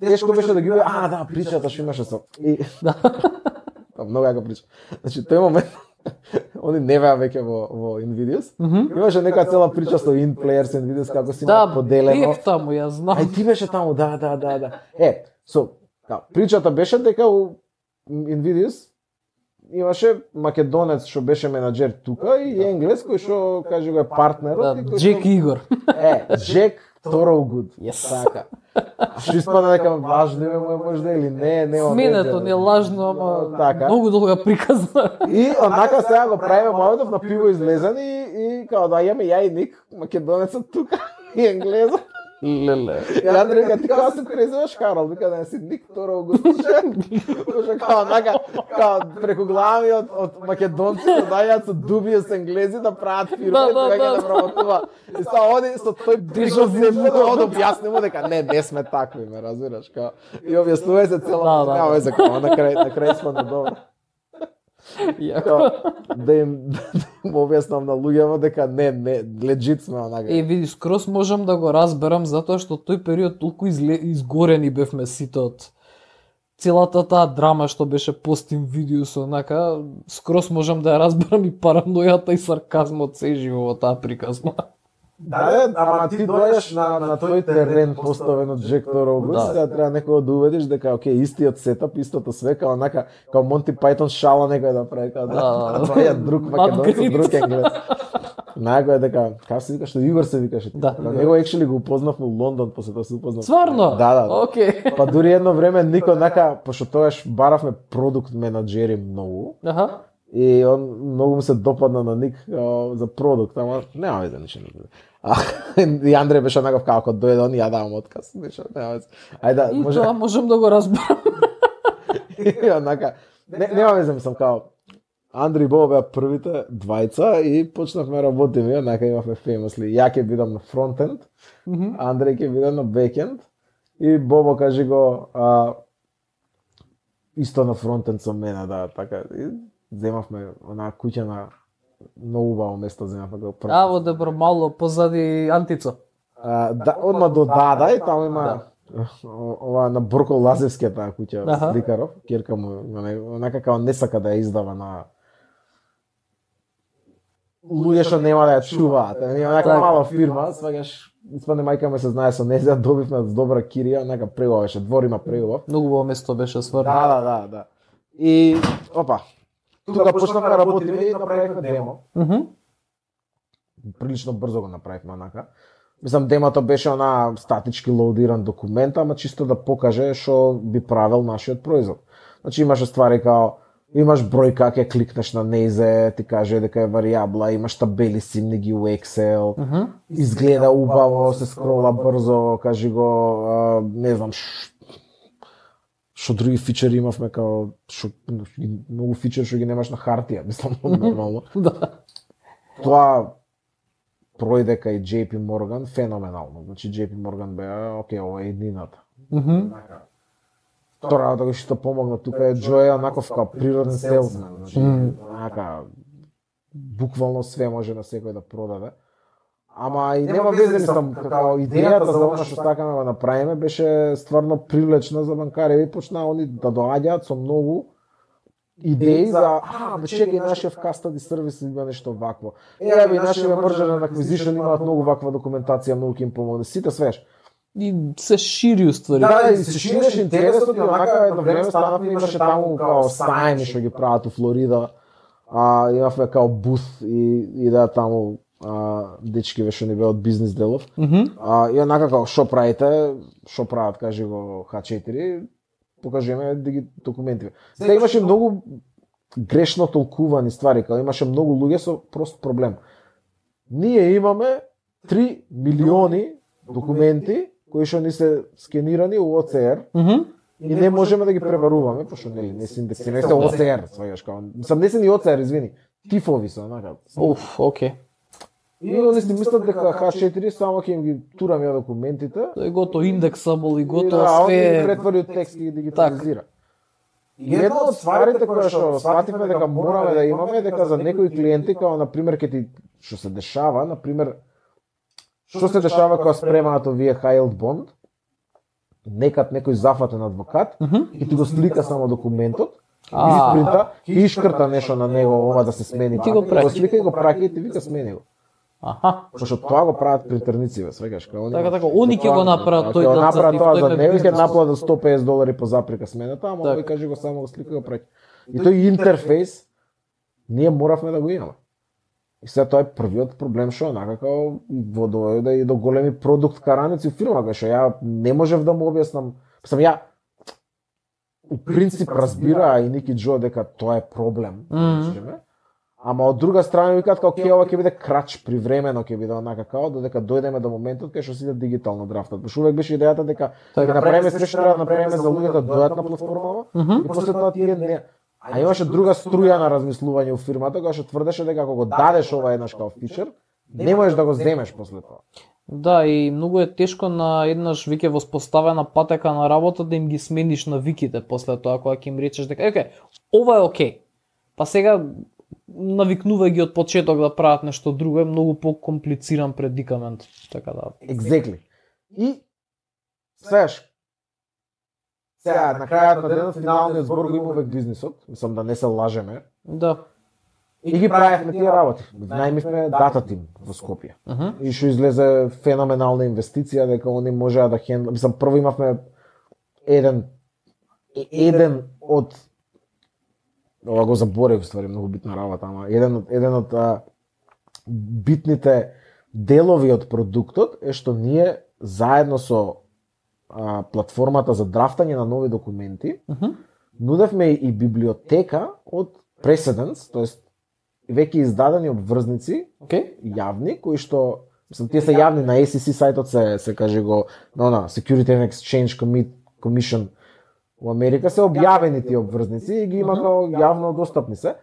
тешко беше да ги, а, да, причата што имаше со. И, да. Многу јака прича. Значи, тој момент, они не беа веќе во, во Invidious. Mm -hmm. Имаше нека цела прича со InPlayers Invidious, како си да, поделено. Да, бев таму, ја знам. Ај, ти беше таму, да, да, да, да. Е, со, као, причата беше дека у Invidious имаше македонец што беше менаџер тука и енглес кој што, кажи го, е партнерот. Да, Джек Игор. Е, Джек Thorogood. Yes. Така. Што испада дека важно име му може да или не, не сменето не е лажно, ама така. Многу долга приказна. И онака сега го правиме маветов на пиво излезен и, и као да јаме ја и Ник, македонецот тука и енглезот. Леле. И Андреј вика, ти као се презиваш Харал, вика да не си Ник Thorogood. Слуша, као онака, као преку глави од, од македонци да дајат со дубија с енглези да прават фирми, да, да, да, да, да прават. И са оди со тој приказ зему да од објасни му дека не, не сме такви, ме разбираш, као. И објаснува се цела, да, да, нема везе, као на крај, на крај сме на добро. Јако. Да им да им објаснам на луѓето дека не, не, легит сме онака. Е, види, скрос можам да го разберам затоа што тој период толку изле... изгорени бевме сите од целата таа драма што беше постим видео со онака, скрос можам да ја разберам и паранојата и сарказмот се живо во таа приказна. Да, да, ама ти дојдеш на, на тој терен поставен од Джек Торогус, Да. да. Треба некој да убедиш дека окей, истиот сетап, истото све, као онака, као Монти Пајтон шала некој да прави, као да, Да, да. тоа е друг македонец, Надгрид. друг енглез. Најако е дека, како се викаш, што Игор се викаше. Да. Као него екшели го упознав во Лондон, после тоа се упознав. Стварно? Да, да. Окей. Па дури едно време никој нака, пошто тогаш баравме продукт менаџери многу, Аха. и он многу му се допадна на Ник а, за продукт, ама нема веќе ништо не биде. А, и Андреј беше онаков како дојде он и ја давам отказ, ништо, нема веќе. Ајде, И може тоа можам да го разберам. и онака, не, нема веќе, мислам као Андри и Бобо беа првите двајца и почнавме работиме, онака имавме феймосли. Ја ќе бидам на фронтенд, Мгм. Андреј ќе биде на бекенд и Бобо кажи го а, исто на фронтенд со мене, да, така. И земавме онаа куќа на многу убаво место земавме го прв. А, во Дебро мало позади Антицо. А, да, одма до Дада и таму има о- ова на Борко Лазевскиот таа куќа Аха. сликаров, керка му има не- онака како не сака да ја издава на луѓе што нема да ја чуваат. Е онака Така. мала фирма, сваѓаш испадне мајка ме се знае со неја, добивме добра кирија, онака преубава беше, двор има преубав. Многу во место беше стварно. Да, да, да, да. И опа, тука почнавме да работиме и направивме демо. Мгм. Прилично брзо го направивме онака. Мислам, демото беше она статички лоудиран документ, ама чисто да покаже што би правил нашиот производ. Значи имаше ствари као имаш број как ќе кликнеш на нејзе, ти каже дека е варијабла, имаш табели симни ги у Excel, Мгм. изгледа убаво, се скрола брзо, кажи го, а, не знам, ш- што други фичери имавме, као, шо, многу фичери што ги немаш на хартија, мислам, нормално. Да. Тоа пројде кај J P Morgan феноменално. Значи J P Morgan беа, окей, ова е еднината. Мгм. Тоа да го што помогна тука е Джоја, онаков као природен селсмен, значи Мм. онака буквално све може на секој да продаде. Ама и нема везе, мислам, како идејата за она што сакаме да направиме беше стварно привлечна за банкари и почнаа они да доаѓаат со многу идеи за а, бе чекај нашиот custody сервис има нешто вакво. Еве би нашиот merger and acquisition имаат многу ваква документација, многу ќе им помогне. Сите свеш. И се шири уствари. Да, и се шириш интересот и онака едно време станавме, имаше таму као сајми што ги прават у Флорида. А, имавме као бус и, и да таму а, дечки што ни беа од бизнес делов. Мгм. А, и онака као што правите, што прават, кажи го Х четири, покажеме диги документи. Сега имаше многу грешно толкувани ствари, као имаше многу луѓе со прост проблем. Ние имаме три милиони документи кои што ни се скенирани у О Ци Р Мгм. и не можеме да ги преваруваме, пошто нели не се индексирани, се О Ци Р, сваѓаш као. Мислам не се ни О Ци Р, извини. Тифови се онака. Уф, окей. И они си мислат дека Х четири само ќе им ги тураме документите. Тој го индексабл и И готово да, он ги све. претвори од текст и ги дигитализира. И едно од стварите која што свативме дека мораме да имаме е дека за некои клиенти, као на пример ке ти што се дешава, на пример што се дешава кога спремаат овие high yield bond, некад некој зафатен адвокат Мгм. и ти го слика само документот, А. испринта и ишкрта нешто на него, ова да се смени. Ти го праќа. Го слика и го праќа и ти вика смени го. Аха. Пошто тоа го прават принтерници, бе, свегаш, као они. Така, така, они ќе го направат тој Ќе го да направат за- тоа тој за да него и ќе бизнес. наплатат сто и песет долари по заприка смената, ама Така. овој каже го само го слика и го праќа. И тој интерфејс ние моравме да го имаме. И сега тоа е првиот проблем што онака како во дојде и до големи продукт караници у фирма, кај што ја не можев да му објаснам. Сам ја у принцип разбира и Ники Џо дека тоа е проблем. Мгм. речеме. Ама од друга страна викаат како ќе ова ќе биде крач привремено, ќе биде онака како додека дојдеме до моментот кај што сите дигитално драфтат. Пошто увек беше идејата дека Така. ќе направиме све што треба да направиме за луѓето да дојдат на платформава Мгм. и после тоа тие не. А имаше друга струја на размислување у фирмата која што тврдеше дека ако го дадеш ова еднаш како фичер, не можеш да го земеш после тоа. Да, и многу е тешко на еднаш веќе воспоставена патека на работа да им ги смениш навиките после тоа кога ќе им речеш дека, окей, ова е окей. па сега навикнувај ги од почеток да прават нешто друго, е многу покомплициран предикамент, така да. Exactly. И сеаш сега на крајот на денот финалниот збор го има век бизнисот, мислам да не се лажеме. Да. И ги правевме тие работи. Најмивме дата тим во Скопје. Uh -huh. И што излезе феноменална инвестиција дека они можеа да хендл, мислам прво имавме еден еден од ова го заборев ствари многу битна работа, ама еден од еден од а, битните делови од продуктот е што ние заедно со а, платформата за драфтање на нови документи Uh -huh. нудевме и библиотека од Precedence, тоест веќе издадени обврзници, Океј. јавни, кои што мислам тие се јавни на Ес И Си сајтот, се се каже го на она Security and Exchange Commission во Америка се објавени тие обврзници и ги има као јавно достапни се.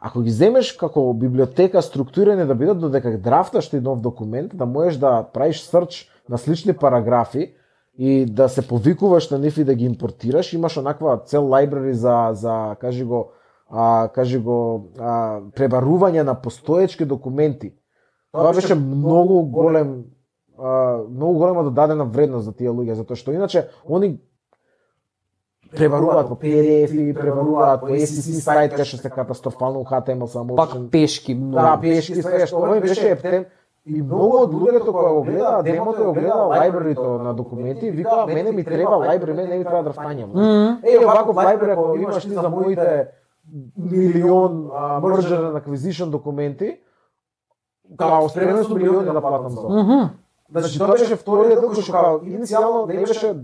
Ако ги земеш како библиотека структурирани да бидат додека драфташ ти нов документ, да можеш да правиш срч на слични параграфи и да се повикуваш на нив и да ги импортираш, имаш онаква цел library за за кажи го а кажи го а, пребарување на постоечки документи. Тоа беше многу голем а, многу голема додадена вредност за тие луѓе, затоа што иначе они пребаруваат по Пи Ди Еф-и, пребаруваат по Ес И Си сајт, кај што се катастрофално Х Т Ем Ел само. Пак пешки многу. Да, пешки све што овој беше ептен. И многу од луѓето кои го гледаа демото, го гледаа лајбрарито на документи, викаа мене ми треба лајбрари, мене не ми треба драфтање. Mm. Е, оваков лајбрари ако имаш ти за моите милион merger and acquisition документи, као спремен сум милиони да платам за. Mm -hmm. Значи тоа беше вториот дел кој што као иницијално не беше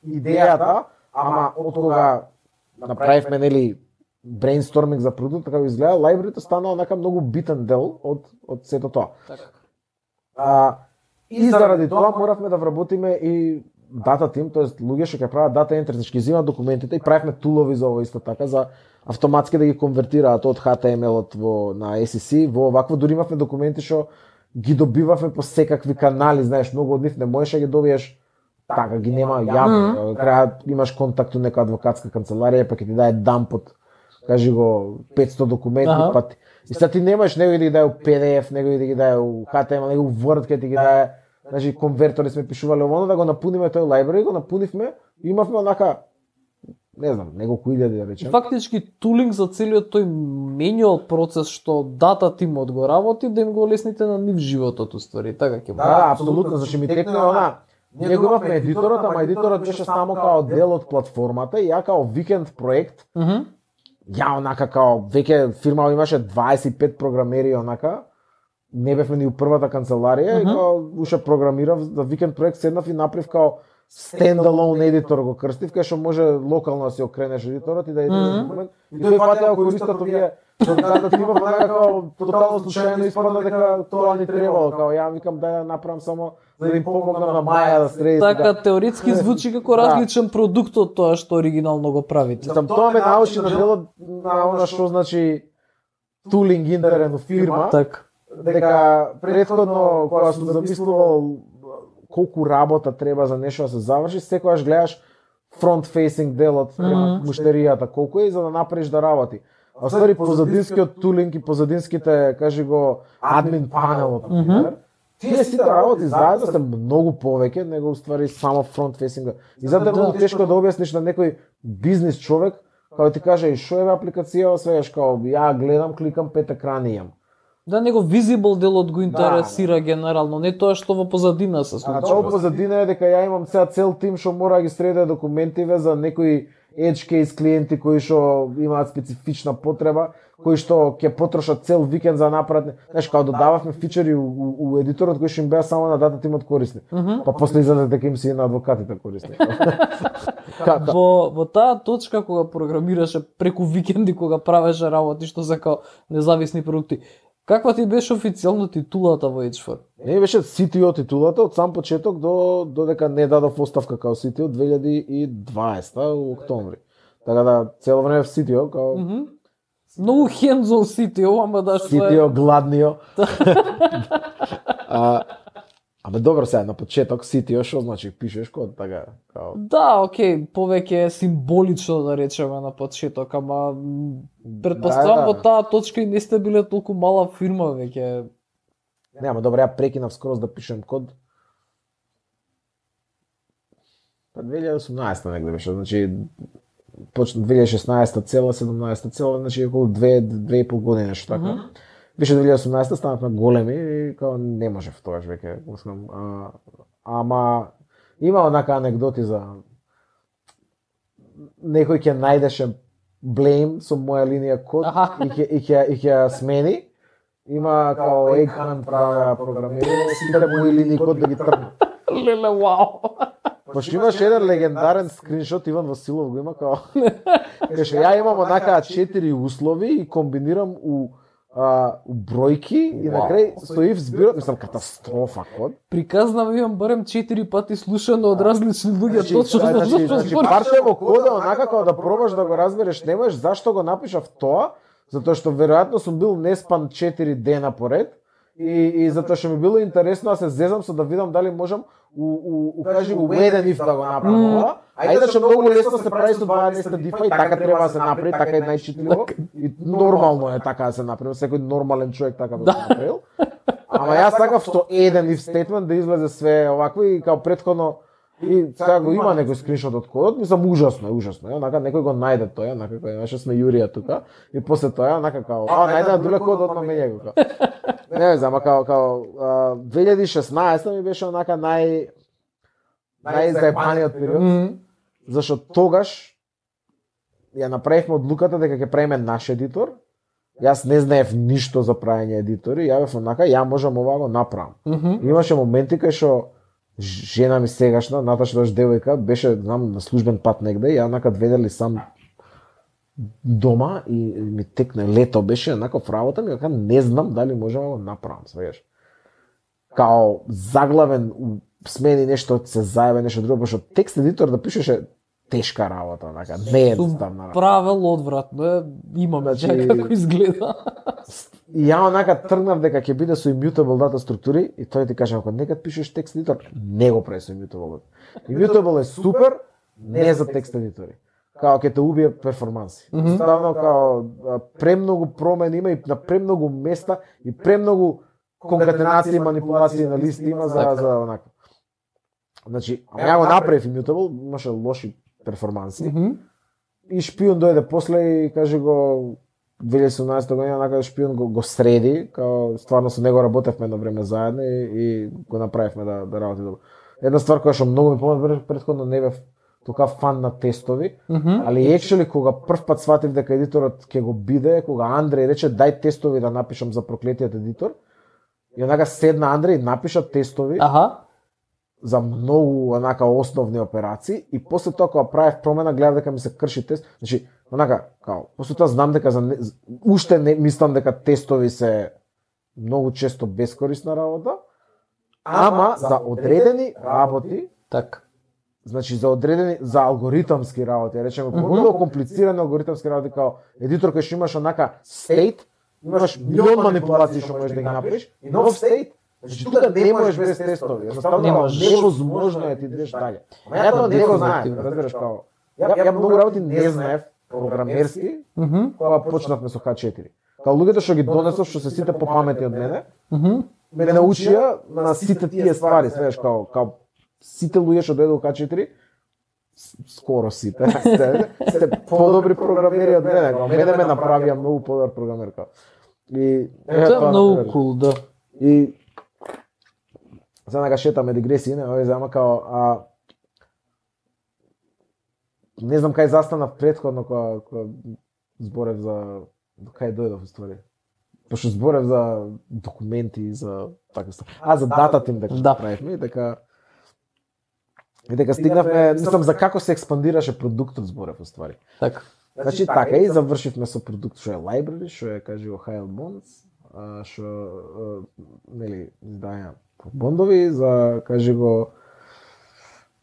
идејата, ама од кога направивме нели брейнсторминг за продукт, како изгледа, лајбрарито стана онака многу битен дел од од сето тоа. Така. А, и заради тоа моравме да вработиме и дата тим, тоест луѓе што ќе прават дата ентри, значи ќе земат документите и правевме тулови за ова исто така за автоматски да ги конвертираат од Х Т Ем Ел-от во на Ес И Си, во овакво дури имавме документи што ги добивавме по секакви канали, знаеш, многу од нив не можеш да ги добиеш така, ги нема јавно. Крај имаш контакт у нека адвокатска канцеларија, па ќе ти даде дамп од кажи го петсто документи, Ага. па и сега ти немаш него да ги даде у Пи Ди Еф, него да ги даде у Х Т Ем Ел, него у Word ќе ти ги даде. Значи конвертори сме пишувале ово да го напуниме тој лајбрари, го напунивме и имавме онака не знам, неколку илјади да речем. Фактички тулинг за целиот тој менуал процес што дата тимот го работи да им го лесните на нив животот уствари, така ќе Да, да, апсолутно, значи ми текне она. Ние го имавме едиторот, ама едиторот беше само као дел од платформата и ја као викенд проект. Мгм. Ја онака као веќе фирма имаше дваесет и пет програмери онака. Не бевме ни у првата канцеларија и Мгм. као уше програмирав за викенд проект, седнав и направив као стендалон едитор го крстив, кај што може локално да си окренеш едиторот и да едитираш Мгм. документ. И тој фатеа користат овие што дата тима онака као тотално случајно испадна дека тоа ни требало, као ја викам да ја направам само за да им помогнам на Маја да среди. Така теоретски звучи како Да. различен продукт од тоа што оригинално го правите. Мислам, тоа ме научи на делот на она што значи тулинг интерен во фирма. Така. Дека претходно кога сум замислувал колку работа треба за нешто да се заврши, секогаш гледаш фронт фейсинг делот према муштеријата колку е за да направиш да работи. А ствари позадинскиот тулинг и позадинските, кажи го, админ панелот, например, тие сите работи заедно се многу повеќе него уствари само фронт фейсинг. И затоа е многу тешко да објасниш на некој бизнис човек кога ти каже и што е апликацијава, свегаш као ја гледам, кликам, пет екрани имам. Да, него визибл делот го интересира да. Генерално, не тоа што во позадина се А случува. тоа позадина е дека ја имам цел цел тим што мора да ги среди документиве за некои edge case клиенти кои што имаат специфична потреба, кои што ќе потрошат цел викенд за направат, знаеш, као додававме фичери у, у, у едиторот кои што им беа само на дата тимот корисни. Mm -hmm. Па после излезе дека им си и на адвокатите корисни. Како? Во, во таа точка кога програмираше преку викенди, кога правеше работи што се као независни продукти, каква ти беше официјално титулата во H четири? Не беше Си Ти О титулата од сам почеток до додека не дадов оставка као Си Ти О две илјади и дваесета во октомври. Така да цело време Си Ти О као Mm -hmm. Многу hands-on Си Ти О, ама да што Си Ти О гладнио. а, Абе добро сега на почеток си ти што значи пишеш код така као. Да, окей, повеќе е символично да речеме на почеток, ама м, претпоставам Да, да. во таа точка и не сте биле толку мала фирма веќе. Нема, добро, ја прекинав скроз да пишем код. Па две илјади и осумнаесета негде беше, значи почна две илјади и шеснаесета цела, седумнаесета цела, значи околу две, две и пол години нешто така. Мгм. Беше две илјади и осумнаесета станавме големи и као не можев тогаш веќе, мислам, а, ама има онака анегдоти за некој ќе најдеше blame со моја линија код Аха. и ќе и ќе и ќе ја смени. Има као egg hunt правеа програмирање, сите мои линии код да ги тргнат. Леле, вау. Пошто имаш еден легендарен скриншот, Иван Василов го има као. Каже, ја имам онака четири услови и комбинирам у а, у бројки и на крај стои в збирот, мислам катастрофа код. Приказнав имам барем четири пати слушано од различни луѓе точно за значи, зашто значи, збориш. парче во кода онака како да пробаш да го разбереш, не можеш зашто го напишав тоа, затоа што веројатно сум бил неспан четири дена поред и и затоа што ми било интересно да се зезам со да видам дали можам у у у кажи у еден if да го направам ова. А иначе многу лесно се прави со дваесет дифа и така треба да се направи, така е најчитливо и нормално е така да се направи, секој нормален човек така би го направил. Ама јас сакав со еден if statement да излезе све овакво и као претходно и сега го има некој скриншот од кодот, мислам ужасно е, ужасно е, онака некој го најде тој, онака кој имаше сме Јурија тука и после тоа онака као, а најде на друг код одма меѓа го као. Не знам, ама као као а, две илјади и шеснаесета ми беше онака нај најзаебаниот период, Мгм. зашто тогаш ја направивме одлуката дека ќе правиме наш едитор. Јас не знаев ништо за правење едитори, ја бев онака, ја можам ова го направам. Мгм. Имаше моменти кај што жена ми сегашна, Наташа даш девојка, беше знам на службен пат негде, ја онака ведели сам дома и ми текне лето беше онака в работа ми, дека не знам дали можам да го направам, свееш. Као заглавен у смени нешто, се заебе нешто друго, пошто текст едитор да пишеше тешка работа, онака, не е едноставна работа. Правел одвратно е, имам Значи- значи... како изгледа. И ја онака тргнав дека ќе биде со immutable data структури и тој ти каже ако некад пишеш текст едитор, не го прави со immutable. Immutable е супер, не за текст едитори. Као ќе те убие перформанси. Мгм. Ставно као а, премногу промени има и на премногу места и премногу конкатенации и манипулации на листи има за за онака. Значи, ама ја го направив immutable, имаше лоши перформанси. Мгм. И шпион дојде после и каже го две илјади и седумнаесета година онака шпион го, го среди, као стварно со него работевме едно време заедно и, и го направивме да да работи добро. Една ствар која што многу ми помогна претходно не бев тука фан на тестови, Мгм. али actually кога прв пат сватив дека едиторот ќе го биде, кога Андреј рече дај тестови да напишам за проклетиот едитор, и онака седна Андреј и напиша тестови Аха. за многу онака основни операции и после тоа кога правев промена гледав дека ми се крши тест, значи онака као после тоа знам дека за не, уште не мислам дека тестови се многу често бескорисна работа, ама за одредени работи, Така. значи за одредени за алгоритамски работи, речеме помногу комплицирани алгоритамски работи као едитор кој што имаш онака state, имаш милион манипулации што можеш да ги направиш и нов state. Значи тука не можеш без тестови, едноставно Не не можеш. невозможно е ти идеш дале. Ама ја тоа не го знаев, разбираш као. Ја, ја многу работи не знаев програмерски, Мгм. кога почнавме со Х четири. Као луѓето што ги донесов, што се сите попаметни од мене, Мгм. ме научија на сите тие ствари, свеш као као сите луѓе што дојдоа во Х четири, с- скоро сите, сте, сте подобри програмери од мене, као мене ме направија многу подобар програмер као. И Тоа е многу например. кул, да. И сега нека шетаме дигресии, не, овој зама као а не знам кај застанав претходно кога кога зборев за кај дојдов уствари. Пошто зборев за документи за така ста. А за датата им дека Да. да. правевме и дека и дека стигнавме, мислам за како се експандираше продуктот зборев уствари. Така. Значи така и завршивме со продукт што е library, што е кажи го High Bonds, а, што а, нели издаја бондови за кажи го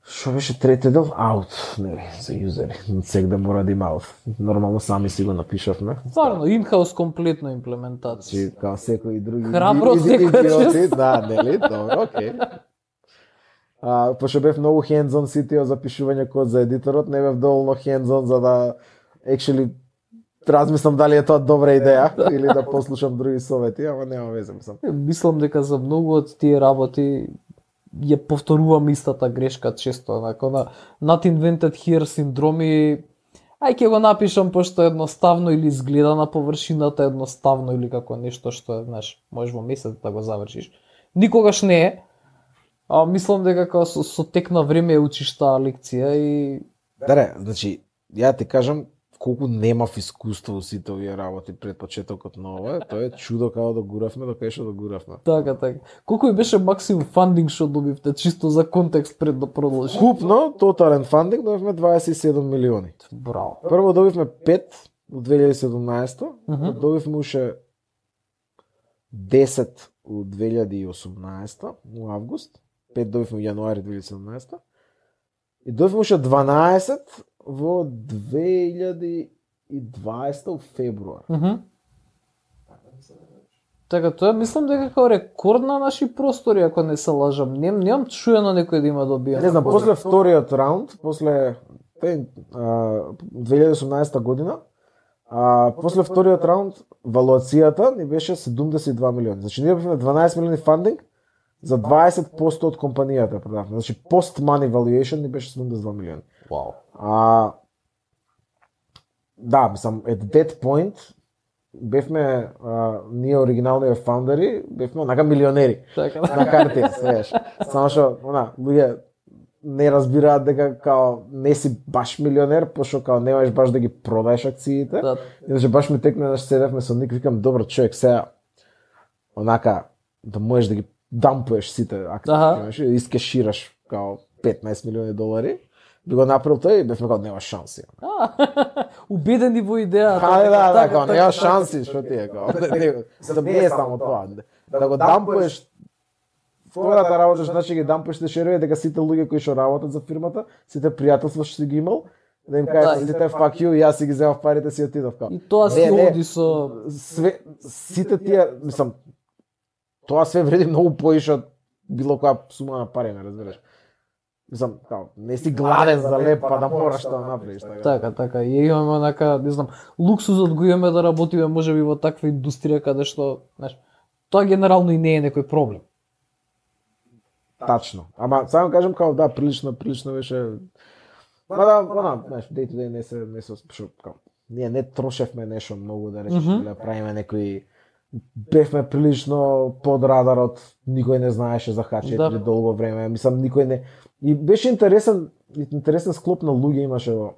што беше трети дел out, нели за юзери. Сега да мора да има out. Нормално сами си го напишавме. Стварно, инхаус комплетна имплементација. Значи као секои други Храбро иди- иди- секоја идиоти, чест. да, нели, добро, окей. А, пошто бев многу hands-on ситио за пишување код за едиторот, не бев доволно hands-on за да actually размислам дали е тоа добра идеја или да послушам други совети, ама нема везе, мислам. Мислам дека за многу од тие работи ја повторувам истата грешка често, онако на not invented here синдроми. Ај ќе го напишам пошто е едноставно или изгледа на површината едноставно или како нешто што е, знаеш, можеш во месец да го завршиш. Никогаш не е. А мислам дека како со, со тек на време ја учиш таа лекција и Даре, значи, ја ти кажам колку немав искуство во сите овие работи пред почетокот на ова, тоа е чудо како да гуравме, до кај што да гуравме. така така. Колку и беше максимум фандинг што добивте, чисто за контекст пред да продолжи? Купно, тотален фандинг, добивме дваесет и седум милиони. Браво. Прво добивме пет во две илјади и седумнаесета, Мгм. добивме уште десет во две илјади и осумнаесета, во август, пет добивме во јануари две илјади и седумнаесета, и добивме уште дванаесет во две илјади и дваесета во февруар. Мгм. Така, тоа мислам дека како рекорд на наши простори, ако не се лажам. Нем, немам чуено некој да има добиено. Не знам, после вториот раунд, после те, а, две илјади и осумнаесета година, а, после вториот раунд, валуацијата ни беше седумдесет и два милиони. Значи, ние бевме дванаесет милиони фандинг за дваесет проценти од компанијата продавме. Значи, post-money valuation ни беше седумдесет и два милиони. Вау. А, да, мислам, at that point, бевме, а, ние оригиналните фаундери, бевме онака милионери Така. на картија, свеш. Само што, она, луѓе не разбираат дека као не си баш милионер, пошто као немаш баш да ги продаеш акциите. Да. Иначе баш ми текна да седевме со Ник, викам, добро човек, сега онака да можеш да ги дампуеш сите акции, Аха. знаеш, и искешираш као петнаесет милиони долари. Би го направил тој и бевме као нема шанси. А, убедени во идејата. А, да, да, Така, као така. нема шанси, што ти е као. Не, не, за не е само тоа. Да го дампуеш втората работа, значи ги дампуеш те шерови дека сите луѓе кои што работат за фирмата, сите пријателства што си ги имал, да им кажеш Да, сите fuck you, јас си ги земав парите си отидов као. И тоа Не, се не. оди со Све сите тие, мислам, тоа све вреди многу поише од било која сума на пари, ме разбираш. Мислам, као, не си гладен за леп, па да мораш тоа да направиш. Така. така, така. И имаме онака, не знам, луксузот го имаме да работиме можеби во таква индустрија каде што, знаеш, тоа генерално и не е некој проблем. Тачно. Ама само кажам као да, прилично, прилично беше. Ма да, она, знаеш, day to day не се не се што као. Ние не трошевме нешто многу да речеш, Мгм. или да правиме некои бевме прилично под радарот, никој не знаеше за Х четири Да. долго време. Мислам никој не и беше интересен интересен склоп на луѓе имаше во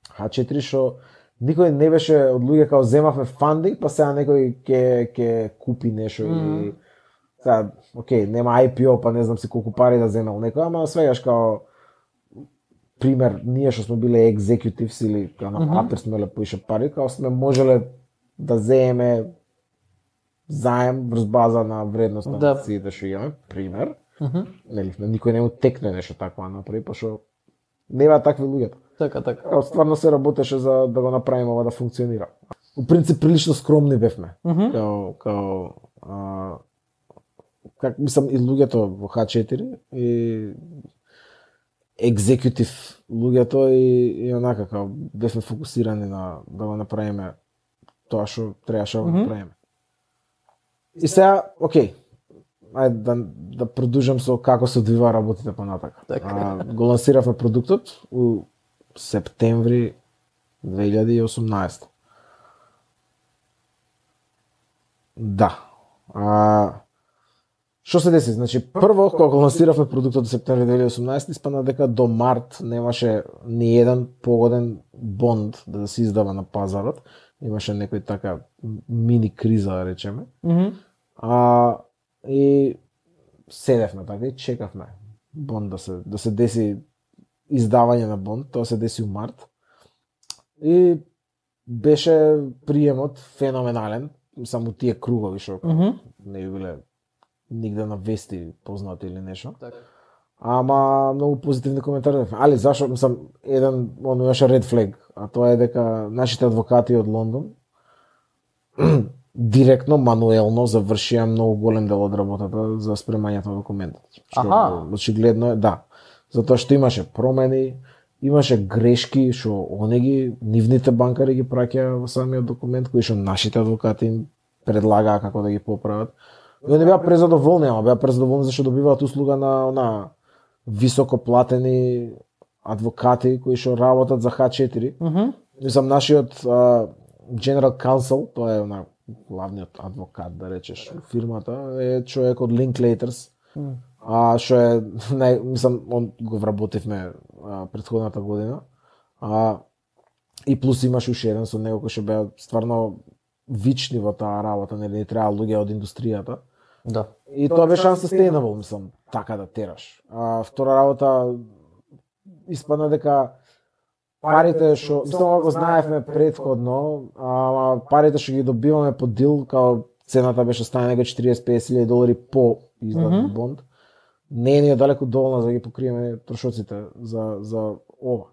Х четири што никој не беше од луѓе као земавме фандинг, па сега некој ќе ќе купи нешто или Мгм. сега, окей, нема Ай Пи О, па не знам си колку пари да земел некој, ама свегаш као пример, ние што сме биле екзекутивс или као на Мгм. папир сме ле поише пари, као сме можеле да земеме заем врз база на вредност на Да. акциите што имаме, пример. Мгм. Нели, на никој не му текне нешто такво да направи, пошто нема такви луѓе. Така, така. Као стварно се работеше за да го направиме ова да функционира. Во принцип прилично скромни бевме. Мгм. Као као а, как мислам и луѓето во Х четири и екзекутив луѓето и, и онака као бевме фокусирани на да го направиме тоа што требаше да го Мгм. направиме. И сега, окей, ајде да, да продолжам со како се одвива работите понатака. Така. А, го лансиравме продуктот у септември две илјади и осумнаесета. Да. А, што се деси? Значи, прво, кога го лансиравме продуктот во септември две илјади и осумнаесета, испадна дека до март немаше ни еден погоден бонд да се издава на пазарот. Имаше некој така мини криза, да речеме. Мгм. А, и седевме така и чекавме бонд да се, да се деси издавање на бонд, тоа се деси у март. И беше приемот феноменален, само тие кругови што Мгм. не би биле нигде на вести познати или нешто. Така. Ама многу позитивни коментари. Али зашо, мислам, еден он имаше ред флег, а тоа е дека нашите адвокати од Лондон директно, мануелно завршија многу голем дел од работата за спремањето на документот. Што очигледно е, да. Затоа што имаше промени, имаше грешки што онеги нивните банкари ги праќаа во самиот документ, кои што нашите адвокати им предлагаа како да ги поправат. И они беа презадоволни, ама беа презадоволни зашто добиваат услуга на на високо платени адвокати кои што работат за Х четири. Мхм. Мислам, нашиот uh, General Counsel, тоа е на главниот адвокат, да речеш, фирмата, е човек од Linklaters. Mm. А што е нај, мислам, он го вработивме а, претходната година. А и плюс имаш уште еден со него кој што беа стварно вични во таа работа, нели не треба луѓе од индустријата. Да. И тоа беше unsustainable, мислам, така да тераш. А втора работа испадна дека парите што, мислам, го знаевме претходно, ама парите што ги добиваме по дил, као цената беше стане него четириесет до песет илјади долари по издат mm-hmm. бонд, не е ни далеку доволно за да ги покриеме трошоците за за ова.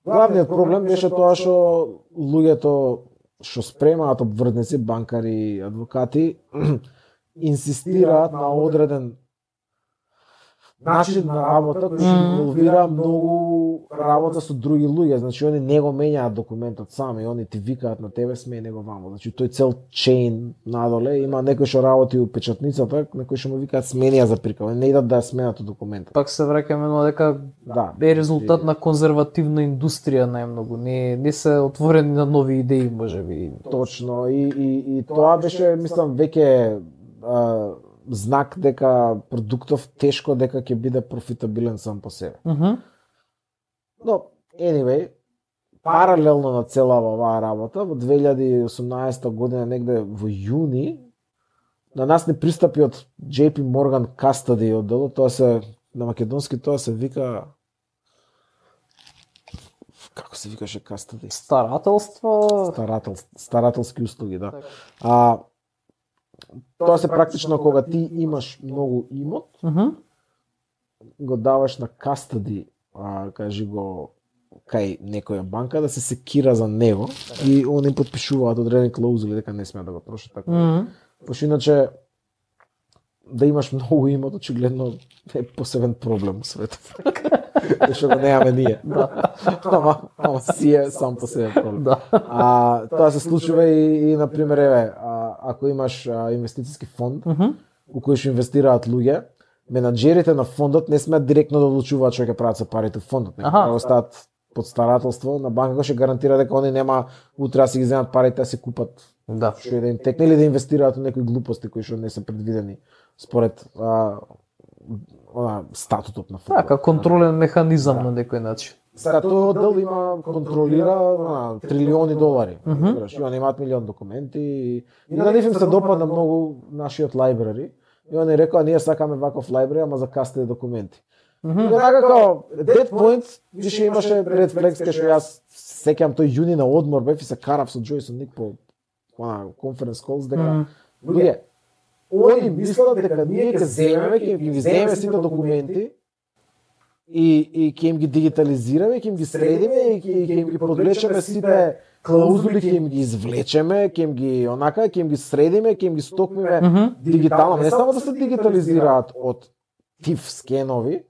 Главниот проблем беше тоа што луѓето што спремаат обвртници, банкари, адвокати инсистираат на одреден начин на работа кој што инволвира многу работа со други луѓе. Значи они не го менјаат документот сами, они ти викаат на тебе, смени го вамо. Значи тој цел чейн надоле, има некој што работи у печатницата, некој што му викаат смени ја заприкава, не идат да ја сменат документот. Пак се враќаме на дека да, е резултат и... на конзервативна индустрија најмногу, не не се отворени на нови идеи можеби. Точно, и и и тоа беше, мислам, веќе а, знак дека продуктов тешко дека ќе биде профитабилен сам по себе. Mm -hmm. Но, anyway, паралелно на целава оваа работа, во две илјади и осумнаесета година, негде во јуни, на нас не пристапи од J P Morgan Custody одделот, тоа се, на македонски тоа се вика... Како се викаше Custody? Старателство... Старател, старателски услуги, да. А, тоа се практично кога ти имаш многу имот, mm -hmm. го даваш на custody, а, кажи го, кај некоја банка да се секира за него и они потпишуваат одредени клаузули дека не смеат да го трошат така. Mm -hmm. Пошто иначе да имаш многу имот очигледно е посебен проблем у светот. Што го немаме ние. Да. Ама, ама си е сам по себе проблем. Да. А тоа се случува и, и на пример еве, а, ако имаш а, инвестициски фонд, Mm -hmm. у кој што инвестираат луѓе, менаџерите на фондот не смеат директно да одлучуваат што ќе прават со парите во фондот, него да остават под старателство на банка која ќе гарантира дека они нема утре да си ги земат парите да се купат. Да. Што да им текне или да инвестираат во некои глупости кои што не се предвидени според а, а, статутот на фондот. Така, контролен механизам да. На некој начин. Сега тој оддел има контролира а, трилиони долари. Mm -hmm. И они имаат милион документи и, и на нив им се допадна многу нашиот лайбрари. И они рекоа ние сакаме ваков лайбрари, ама за кастеди документи. Mm -hmm. И така како that point више имаше Red Flags кај што јас сеќам тој јуни на одмор бев и се карав со Джойсон Ник по она конференц колс дека Mm. луѓе они мислат дека ние ќе земеме, ќе ги земеме сите документи и и ќе им ги дигитализираме, ќе им ги средиме и ќе ќе им ги подвлечеме сите клаузули, ќе им ги извлечеме, ќе им ги онака, ќе им ги средиме, ќе им ги стокмиме Mm -hmm. дигитално, не само да се дигитализираат од тиф скенови,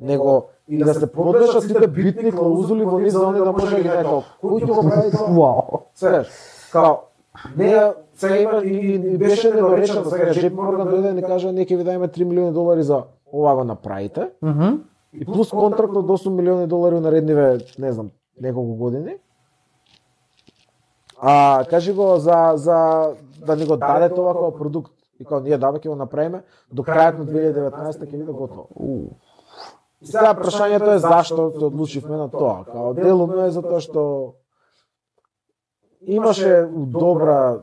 него и да се подлежат сите битни клаузули во нив за они да може да ги некао. Кој ќе го прави тоа? Вау. Свеш, као не сега има и, и беше недоречено, сега J P Morgan дојде и ни кажа ние ќе ви дајме три милиони долари за ова го направите. Mm -hmm. И плюс контракт од осум милиони долари у наредниве, не знам, неколку години. А кажи го за за да ни го даде тоа како продукт. И као ние даваме ќе го направиме до крајот на две илјади и деветнаесета ќе биде готово. И сега прашањето е зашто се одлучивме на тоа. Као делумно е затоа што имаше добра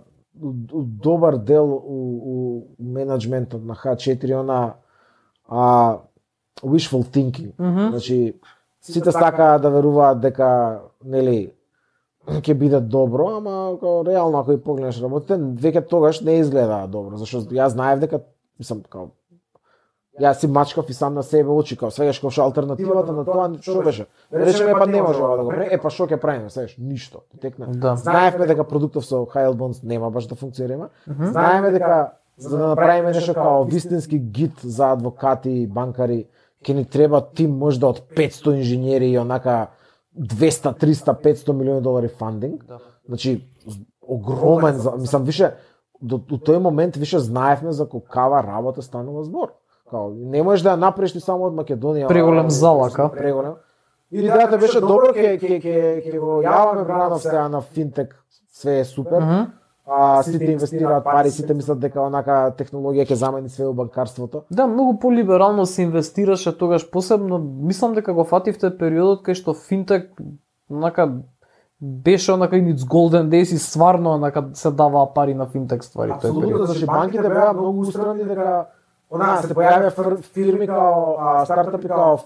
добар дел у, у менеджментот на Х четири она а wishful thinking. Mm -hmm. Значи сите сакаат да веруваат дека нели ќе биде добро, ама као реално ако и погледнеш работите, веќе тогаш не изгледа добро, зашто јас знаев дека мислам као Јас си мачкав и сам на себе очи, као свегаш како што алтернативата на тоа што беше. Речеме па не може ова да го прави, е па што ќе правиме, свегаш ништо. Текна. Да. Знаевме дека продуктов со high yield bonds нема баш да функционира. Знаеме дека за да направиме нешто као вистински гид за адвокати и банкари, ќе ни треба тим можда од петсто инженери и онака двеста, триста, петсто милиони долари фандинг. Да. Значи огромен, мислам више до, до тој момент више знаевме за какава работа станува збор. Као не можеш да ја направиш ти само од Македонија. Преголем залака. Преголем. И идејата беше добро, ќе ќе ќе ќе го јаваме Бранов сега на финтек, све е супер. Мгм. А сите инвестираат пари, сите мислат дека онака технологија ќе замени све у банкарството. Да, многу полиберално се инвестираше тогаш, посебно мислам дека го фативте периодот кај што финтек онака беше онака in its golden days и стварно онака се даваа пари на финтек ствари тој Апсолутно, период. значи банките беа многу устрани дека она се појавија фир- фирми као а, стартапи као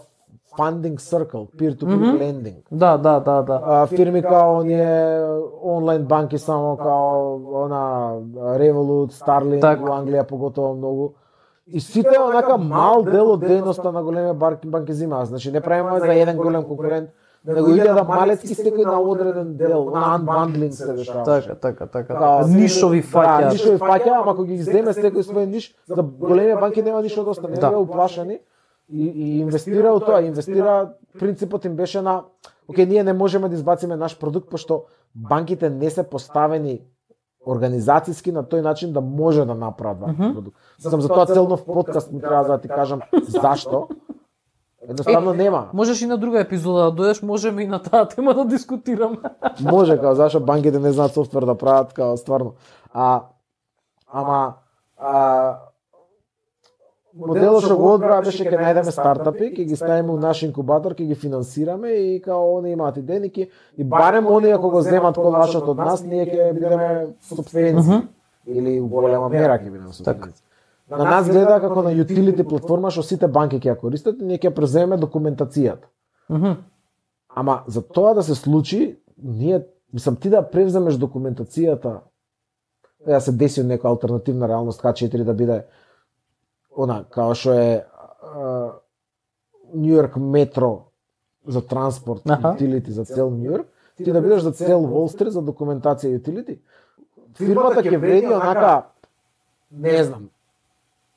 funding circle, peer-to-peer Мгм. lending. Да, да, да, да. А, фирми као оние онлайн банки само као она Revolut, Starling, Так. во Англија поготово многу. И сите онака мал дел од дејноста на големи банки банки земаат. Значи не правиме за еден голем конкурент, него илјада малецки секој на одреден дел, на unbundling се дешава. Така, така, така. Као, Нишови Да, фаќа. нишови фаќа, ама ако ги земе секој свој ниш, за големи банки нема ништо да остане, Да. беа уплашени и, и инвестира у тоа, инвестира, принципот им беше на окей, ние не можеме да избациме наш продукт пошто банките не се поставени организацијски на тој начин да може да направат ваков продукт. Сам за тоа цел нов подкаст ми треба да ти кажам зашто. Едноставно нема. Можеш и на друга епизода да дојдеш, можеме и на таа тема да дискутираме. Може, као зашто банките не знаат софтвер да прават, као стварно. А ама а моделот што го одбра беше ќе најдеме стартапи, ќе ги ставиме у наш инкубатор, ќе ги финансираме и као они имаат идејники и барем они ако го земат колашот од нас, ние ќе бидеме собственици или у голема мера ќе бидеме собственици. На нас гледа како на utility платформа што сите банки ќе ја користат и ние ќе преземеме документацијата. Мгм. Ама за тоа да се случи, ние, мислам, ти да превземеш документацијата, да се деси нека алтернативна реалност Х четири да биде она, као што е Нью Йорк метро за транспорт, Аха. utility за цел Нью Йорк, ти да бидеш за цел Wall Street за документација utility. Фирмата ќе вреди онака, не знам,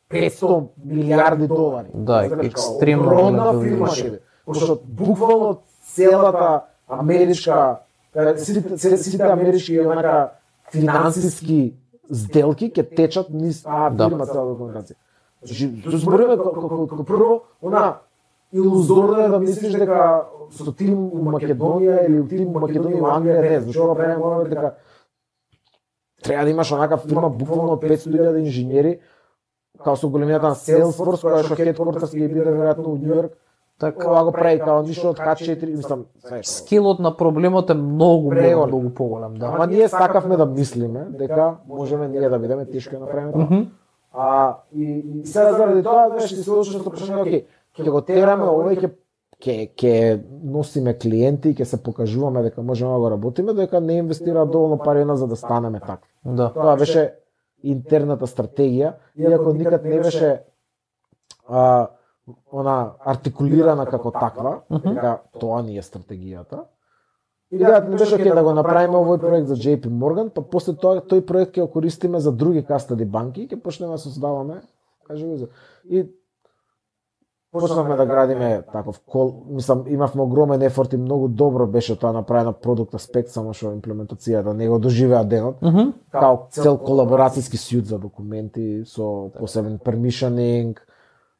петсто милиарди долари. Да, Знаеш, екстремно огромна голем фирма величина. ќе биде. Пошто буквално целата америчка, каде сите, се- сите амерички онака финансиски сделки ќе течат низ таа Да. фирма цела документација. Значи, се збориме како прво, она илузорно е да мислиш дека со тим у Македонија или у тим у Македонија у Англија не, зашто го правиме ова дека треба да имаш онака фирма буквално од петсто илјади инженери, као со големината на Salesforce, која што хедквартерс ќе биде веројатно у Нью Йорк. Така. Ова го прави као ништо од Х четири, мислам, знаеш. Скелот на проблемот е многу, многу, Преголем. многу поголем, да. Ама ние сакавме да мислиме дека можеме ние да бидеме тешко да направиме тоа. Мгм. А и, и сега заради тоа знаеш ти се случи што прашање, окей, ќе го тераме овој ќе ќе ќе носиме клиенти и ќе се покажуваме дека можеме да го работиме, дека не инвестира доволно пари на за да станеме такви. Да. Тоа беше интерната стратегија, иако никад не беше а, она артикулирана како таква, дека тоа ни е стратегијата. Идејата не беше окей да го направиме овој проект за J P Morgan, па после тоа тој проект ќе го користиме за други кастади банки и ќе почнеме да создаваме, кажи го за. И почнавме да градиме таков кол, мислам имавме огромен ефорт и многу добро беше тоа направено продукт аспект, само што имплементацијата не го доживеа денот. Мгм. Као цел колаборацијски сјут за документи со посебен permissioning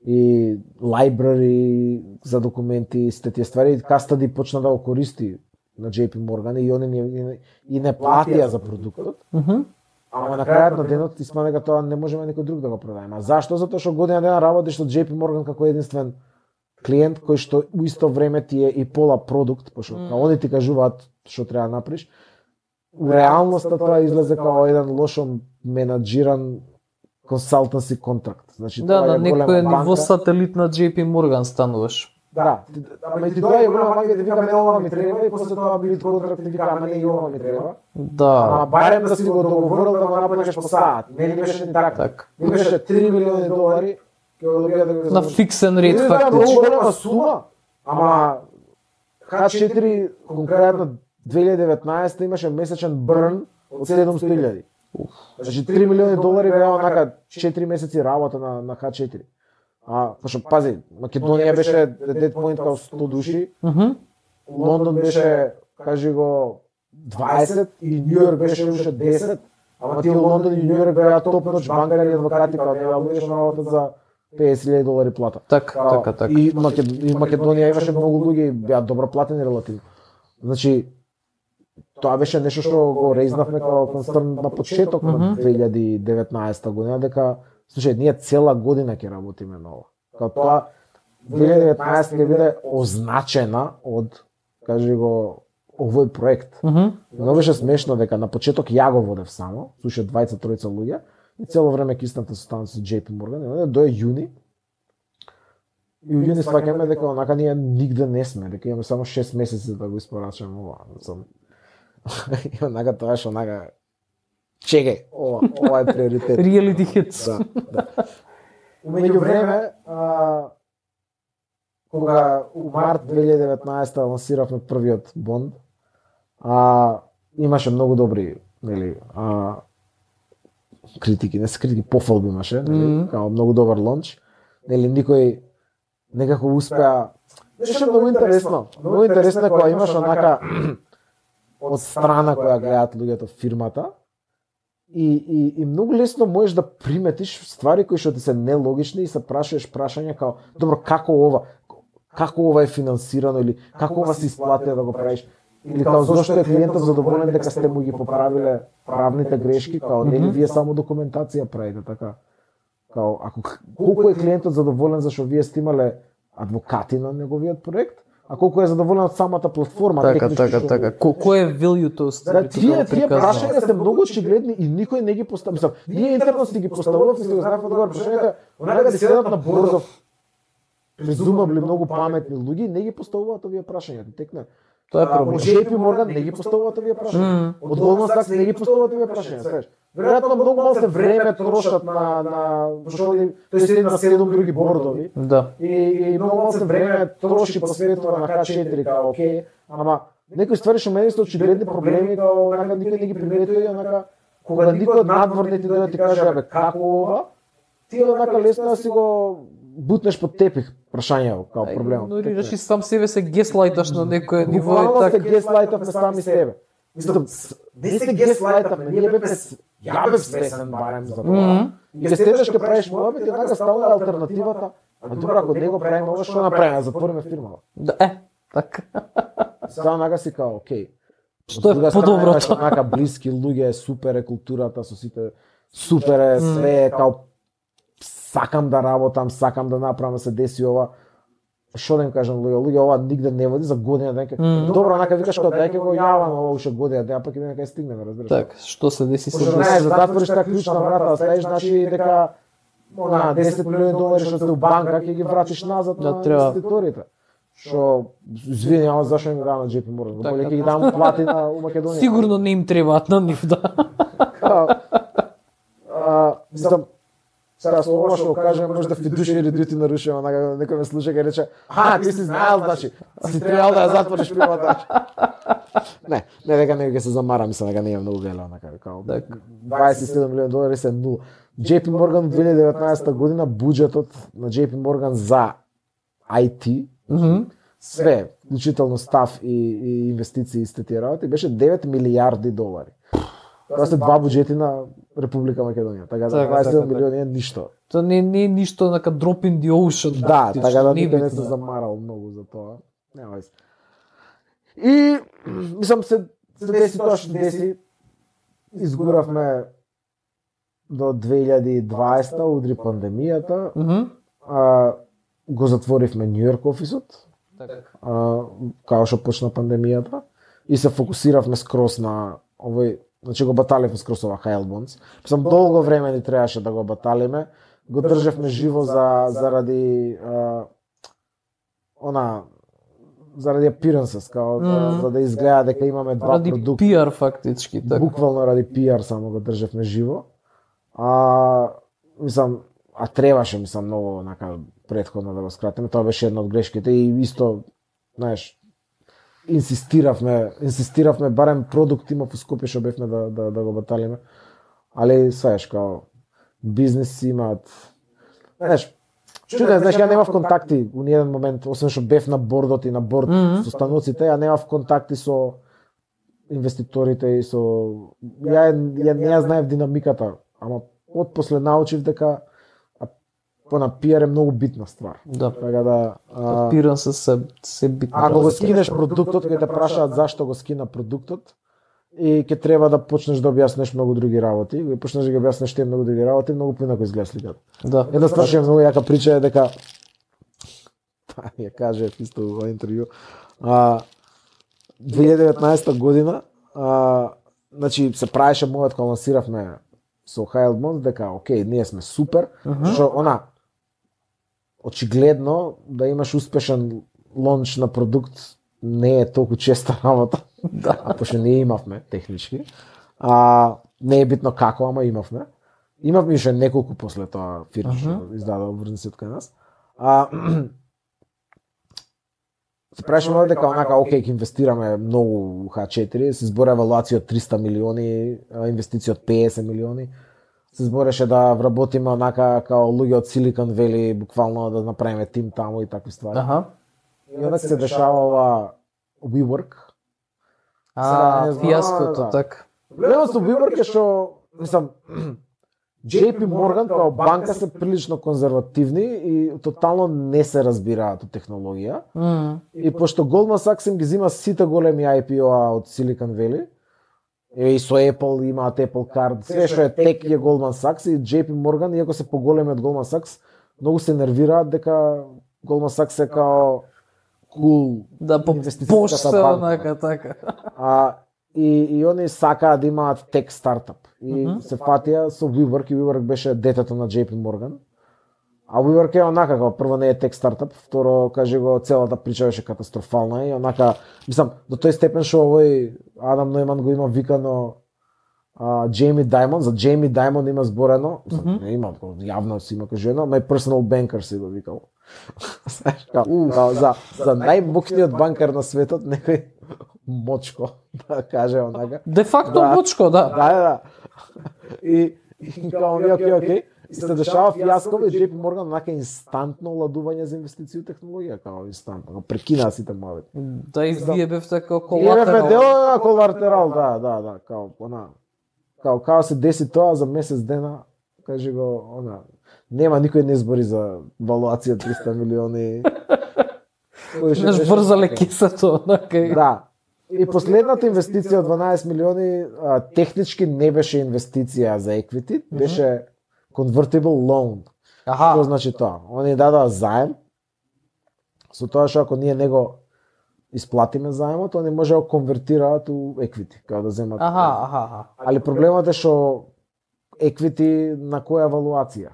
и library за документи, сите тие ствари, кастади почна да го користи на J P Morgan и они ни- и не платија за продуктот. Мгм. Ама на крајот на денот испадна дека тоа не можеме никој друг да го продадеме. А зашто? Затоа што година дена работиш со J P Morgan како единствен клиент кој што у исто време ти е и пола продукт, пошто mm. они ти кажуваат што треба да направиш. У реалноста тоа излезе како еден лошо менаџиран консалтанси контракт. Значи Да, тоа на е голема некој ниво банка. сателит на J P Morgan стануваш. Да, ти- ама и ти тоа е голема банка и ти вика ме ова ми треба и после тоа били контракт и вика ама не и ова ми треба. Да. Ама барем да си го договорил да го направиш по саат. Не, не беше ни така. Так. Не беше три милиони долари, ќе го добијате На фиксен ред фактички. Многу фактички. голема сума, ама Х четири конкретно две илјади и деветнаесета имаше месечен брн од седумстотини илјади. Значи три милиони долари беа онака четири месеци работа на на Х четири. А пошто пази, Македонија беше dead point као сто души. Мгм. Лондон беше, кажи го, дваесет и Нью Йорк беше уште десет. Ама тие Лондон и Нью Йорк беа топ ноч банкари и адвокати, као нема луѓе што работат за песет илјади долари плата. Така, Као, така, така. И Макед... и Македонија имаше многу луѓе и беа добро платени релативно. Значи тоа беше нешто што го резнавме као концерн на почеток на две илјади и деветнаесета година, дека слушај, ние цела година ќе работиме на ова. Као тоа две илјади и деветнаесета ќе биде означена од, кажи го, овој проект. Мгм. Но беше смешно дека на почеток ја го водев само, слуша двајца тројца луѓе и цело време кисната состанав со Џејпи Морган, до јуни. И у јуни сваќаме дека онака ние нигде не сме, дека имаме само шест месеци да го испорачаме ова. Сам и онака тоа што онака чекај, ова, ова е приоритет. Reality hits. Да, да. Меѓу време, а, кога у март две илјади и деветнаесета лансиравме првиот Бонд, а, имаше многу добри, нели, а, критики, не се критики, пофалби имаше, нели, Мгм. као многу добар лонч. Нели никој некако успеа. Беше многу интересно. Многу интересно е кога имаш онака од страна која гледаат луѓето фирмата. И, и, и многу лесно можеш да приметиш ствари кои што ти се нелогични и се прашуваш прашања као, добро, како ова, како ова е финансирано или како ова се исплати да го правиш? Или као зошто е клиентот задоволен дека сте му ги поправиле правните грешки, као нели вие само документација правите, така. Као ако колку е клиентот задоволен зашто вие сте имале адвокати на неговиот проект, а колку е задоволен од самата платформа, Така, технички така, што- така. Ко- Кој е value-то? Да, тие тие прашања се многу очигледни и никој не ги поставува. Мислам, ние интерно си ги поставуваме, си го знаевме да го прашањата, онака да седат на Борзов. Презумабли многу паметни луѓе не ги поставуваат овие прашања, текна. Тоа е А, проблем. Од Џејпи Морган не ги поставуваат овие прашања. Од Goldman Sachs не ги поставуваат овие прашања, знаеш. Веројатно многу мал се време трошат на на пошто тој седи на седум други бордови. Да. И, и многу мал се време троши посветува на Х четири, као окей, ама некои ствари што мене се очигледни проблеми, као онака никој не ги приметува и онака кога никој од надворните ти дојде ти каже абе како ова, ти онака лесно да си го бутнеш под тепих прашањето као проблемот. Игнорираш и сам себе се геслайташ на некој ниво и Буквално сте така. геслайтавме сами себе. Мислам, с- не се геслайтавме, ние бевме, с- ја бев свесен барем за тоа. И ќе седеш ќе правиш муабет и онака стала алтернативата. А добро, ако не го правиме ова, што направиме? Затвориме фирмава. Да, е, така. Сега онака си као, окей. Што е Од друга страна, имаш подоброто? Онака блиски луѓе, супер е културата со сите, супер е све, е као сакам да работам, сакам да направам да се деси ова. Што да им кажам луѓе, луѓе ова нигде не води за година дека. Мм. Добро, онака викаш као дај ќе го јавам ова уште година, да пак и дека ќе стигнеме, разбираш. Така, што се деси со Пошто знаеш, да затвориш таа клучна врата, да ставиш, значи дека она десет милиони долари што сте у банка ќе ги вратиш назад Да, на треба. инвеститорите. Што извини, ама зашо им дам на Џејпи Морган? Така, Боле ќе ги дам плати на у Македонија. Сигурно не им требаат на нив, да. Као, а, мислам, сега со ова што го кажем, може да фидушери дути нарушува, онака некој ме слуша и рече, а, ти си знаел, значи, си требал да ја затвориш фирмата. Не, не дека не ќе се замара, мислам дека не е многу вело, онака, као, Така. дваесет и седум милиони долари се нула. Џејпи Морган две илјади и деветнаесета година буџетот на Џејпи Морган за ай ти, Мгм. све, вклучително став и, и инвестиции и сте тие работи, беше девет милијарди долари. Тоа се два буџети на Република Македонија, така да Така, дваесет и седум така, милиони е ништо. Тоа не не е ништо нака drop in the ocean. Да, практично, така да не е никој не битно. се замарал многу за тоа. Нема вез. И мислам се се деси тоа што деси. Изгуравме до две илјади и дваесета, удри пандемијата, Мгм. а, го затворивме Нью Йорк офисот, Така. а, као што почна пандемијата, и се фокусиравме скрос на овој, значи го баталивме скрос ова Хайл Бонс. Мислам, долго време ни требаше да го баталиме, го држевме живо за заради а, она заради appearances, као да, Мм. за да изгледа дека имаме два Ради продукта. пиар фактички, така. Буквално ради пиар само го држевме живо. А, мислам, а требаше мислам многу нака претходно да го скратиме, тоа беше една од грешките и исто, знаеш, инсистиравме, инсистиравме барем продукт имав у Скопје што бевме да да да го баталиме. Али знаеш као бизнеси имаат, знаеш, чуден, знаеш, ја немав контакти у ниеден момент, освен што бев на бордот и на борд mm -hmm. со станоците, ја немав контакти со инвеститорите и со ја ја не ја знаев динамиката, ама од после научив дека на пиар е многу битна ствар. Да. Така да, капирам се се се битно. Ако го скинеш продуктот, кога те прашаат зашто го скина продуктот, и ќе треба да почнеш да објаснеш многу други работи, и почнеш да ги објаснеш тие многу други работи, многу поинаку изгледа сликата. Да. Една ствар што е многу јака прича е дека па ја каже исто во интервју, а две илјади и деветнаесета година, а значи се правеше мојот кога лансиравме со Hild Bonds дека окей, ние сме супер, uh -huh. што она очигледно да имаш успешен лонч на продукт не е толку честа работа. Да. А пошто не имавме технички. А не е битно како, ама имавме. Имавме уште неколку после тоа фирми што uh -huh. издадоа врзници од кај нас. А се прашуваме дека онака окей, ќе инвестираме многу у Х четири, се збори евалуација од триста милиони, инвестиција од педесет милиони. Се збореше да вработиме онака као луѓе од Silicon Valley, буквално да направиме тим таму и такви ствари. Аха. И onda се дешава ова WeWork. А, фијаското, да. така. Проблемот со WeWork е што, мислам, J P Morgan као банка се прилично конзервативни и тотално не се разбираат од технологија. Mm. И пошто Goldman Sachs им ги зима сите големи I P O-а од Silicon Valley, и со Apple имаат Apple Card, све што е тек е Goldman Sachs и J P Morgan, иако се поголеми од Goldman Sachs, многу се нервираат дека Goldman Sachs е као cool, да по поште онака така. А и и они сакаат да имаат тек стартап. И Mm -hmm. се фатија со WeWork, и WeWork беше детето на J P Morgan. А WeWork е онака, како прво не е тек стартап, второ, кажи го, целата прича беше катастрофална и онака, мислам, до тој степен што овој Адам Нојман го има викано а, Джейми Даймонд, за Джейми Даймонд има зборено, mm -hmm. не има, јавно си има кажено, my personal banker си го викал. за за најмокниот банкар на светот, некој мочко, да каже онака. Де факто да, мочко, да. Да, да, да. И, и као ми, окей, окей. И се дешава фијаско и J P Morgan онака инстантно ладување за инвестиции у технологија, као инстантно, прекина сите мојот. Да, и вие бевте како колатерал. Вие бевте дел колатерал. на колатерал, да, да, да, као она, као као се деси тоа за месец дена, кажи го, она, нема никој не збори за валуација триста милиони. Неш брзале кисето, онака. Да. И последната инвестиција од дванаесет милиони а, технички не беше инвестиција за equity, беше convertible loan. Аха. Што значи тоа? Они дадоа заем, со тоа што ако ние него исплатиме заемот, они може да го конвертираат у equity, као да земат. Аха, аха, аха. Али проблемот е што equity на која евалуација?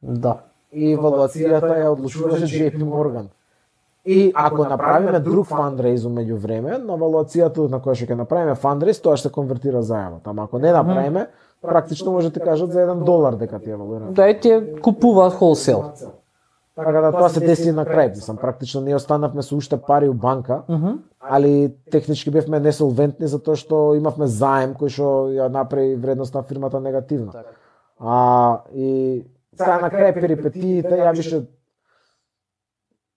Да. И евалуацијата ја одлучуваше J P Morgan. И ако направиме друг фандрейз меѓу време, на евалуацијата на која што ќе направиме фандрейз, тоа ќе се конвертира заемот. Ама ако не направиме, практично може да кажат за еден долар дека ти евалуира. Да, и тие купуваат холсел. Така да тоа се деси на крај, мислам, практично ние останавме со уште пари у банка, Mm -hmm. али технички бевме несолвентни затоа што имавме заем кој што ја направи вредност на фирмата негативна. Так. А и сега на крај перипетиите ја више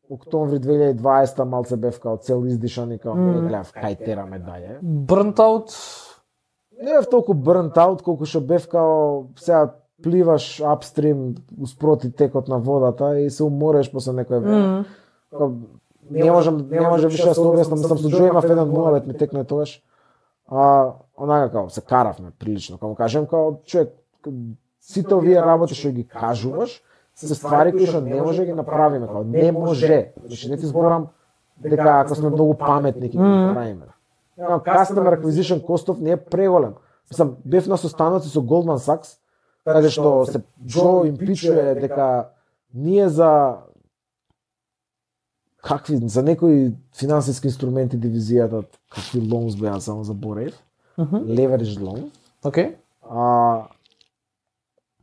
октомври две илјади и дваесета малце бев као цел издишан и као Mm. не гледав кај тераме даје. Burnt out. Не бев толку burnt out колку што бев као сега пливаш апстрим успроти текот на водата и се умореш после некој време. Mm. Не можам, не може више да се објаснам, мислам со Джо имав еден муавет ми текне тогаш. А онака као се каравме прилично, као кажем као човек сите овие работи што ги кажуваш се ствари кои што не може да ги направиме, као не може. Значи не ти зборам дека ако сме многу паметни ќе ги направиме. Customer acquisition cost не е преголем. Мислам, бев на состаноци со Goldman Sachs, каде што се Джо им пичуе дека ние за какви за некои финансиски инструменти дивизијата какви loans беа само за Борев, Мгм. leverage loan. Окей. А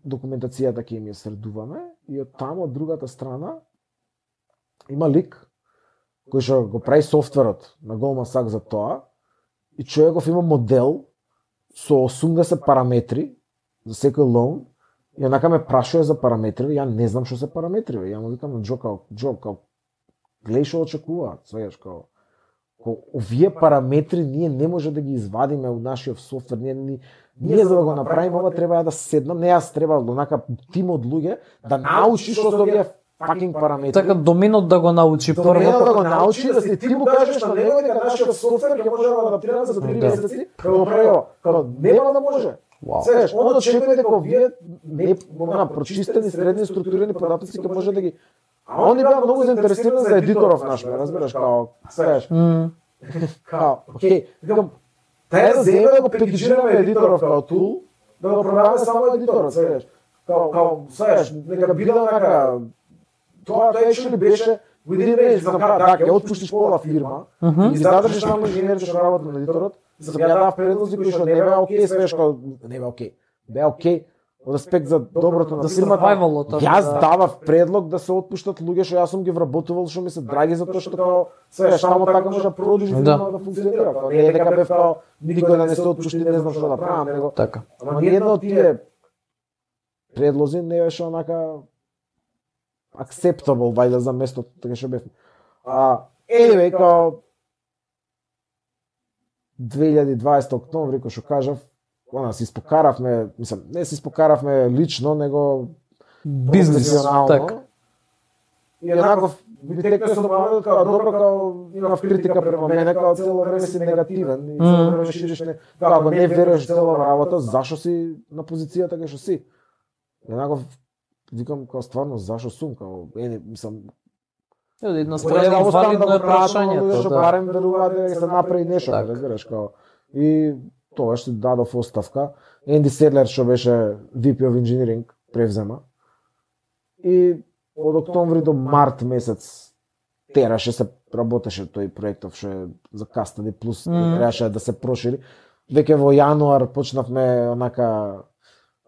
документацијата ќе им ја средуваме и од таму од другата страна има лик кој што го прави софтверот на Goldman Sachs за тоа и човеков има модел со осумдесет параметри за секој лоун и онака ме прашува за параметри, ја не знам што се параметри, ја му викам на Джо као, Джо као, гледај што очекуваат, свееш као, као, овие параметри ние не може да ги извадиме од нашиот софтвер, ние, ние, ние за да го направиме ова треба да седнам, не јас треба онака тим од луѓе да научи што се овие fucking параметри. Така доменот да го научи прво. Доменот да го научи, да ти му кажеш на него дека нашиот софтвер ќе може да го адаптира за три месеци, да го прави ова. Као нема да може. Wow. Сеш, он очекува дека вие не на прочистени средни структурирани податоци ќе може да ги. А они беа многу заинтересирани за едиторов наш, ме разбираш, као, сеш. Mm. Као, окей, викам, тај да земе да го пекиџираме едиторов као тул, да го продаваме само едиторот, сеш. Као, као, сеш, нека биде онака. Тоа тоа actually беше within range, за да ќе отпуштиш пола фирма и задржиш само инженерите што работат на едиторот. За да дав предлози кои што не беа окей, свеш као не беа окей. Беа окей од аспект за доброто на фирмата. Јас давав предлог да се отпуштат луѓе што јас сум ги вработувал, што ми се драги затоа што као свеш само така може да продолжи фирмата да функционира. Као не е дека бев као никој да не се отпушти, не знам што да правам, него. Така. Ама ниедно од тие предлози не беше онака acceptable вајда за местото така што бев. А anyway, као две илјади и дваесета октомври, кој што кажав, она се испокаравме, мислам, не се испокаравме лично, него бизнес, така. И еднаков битекте со мамата, као добро, као имав критика према мене, као цело време си негативен и цело време шириш не, као ако не веруваш цела работа, зашо си на позицијата кај што си? Еднаков викам као стварно зашо сум, као ени, мислам, една страна валидно е прашањето, што барем веруваат дека се направи нешто, разбираш, као. И тоа што дадов оставка, Енди Седлер што беше ви пи of Engineering превзема. И од октомври до март месец тераше се работеше тој проектов што е за Custody Plus, mm. требаше да се прошири. Веќе во јануар почнавме онака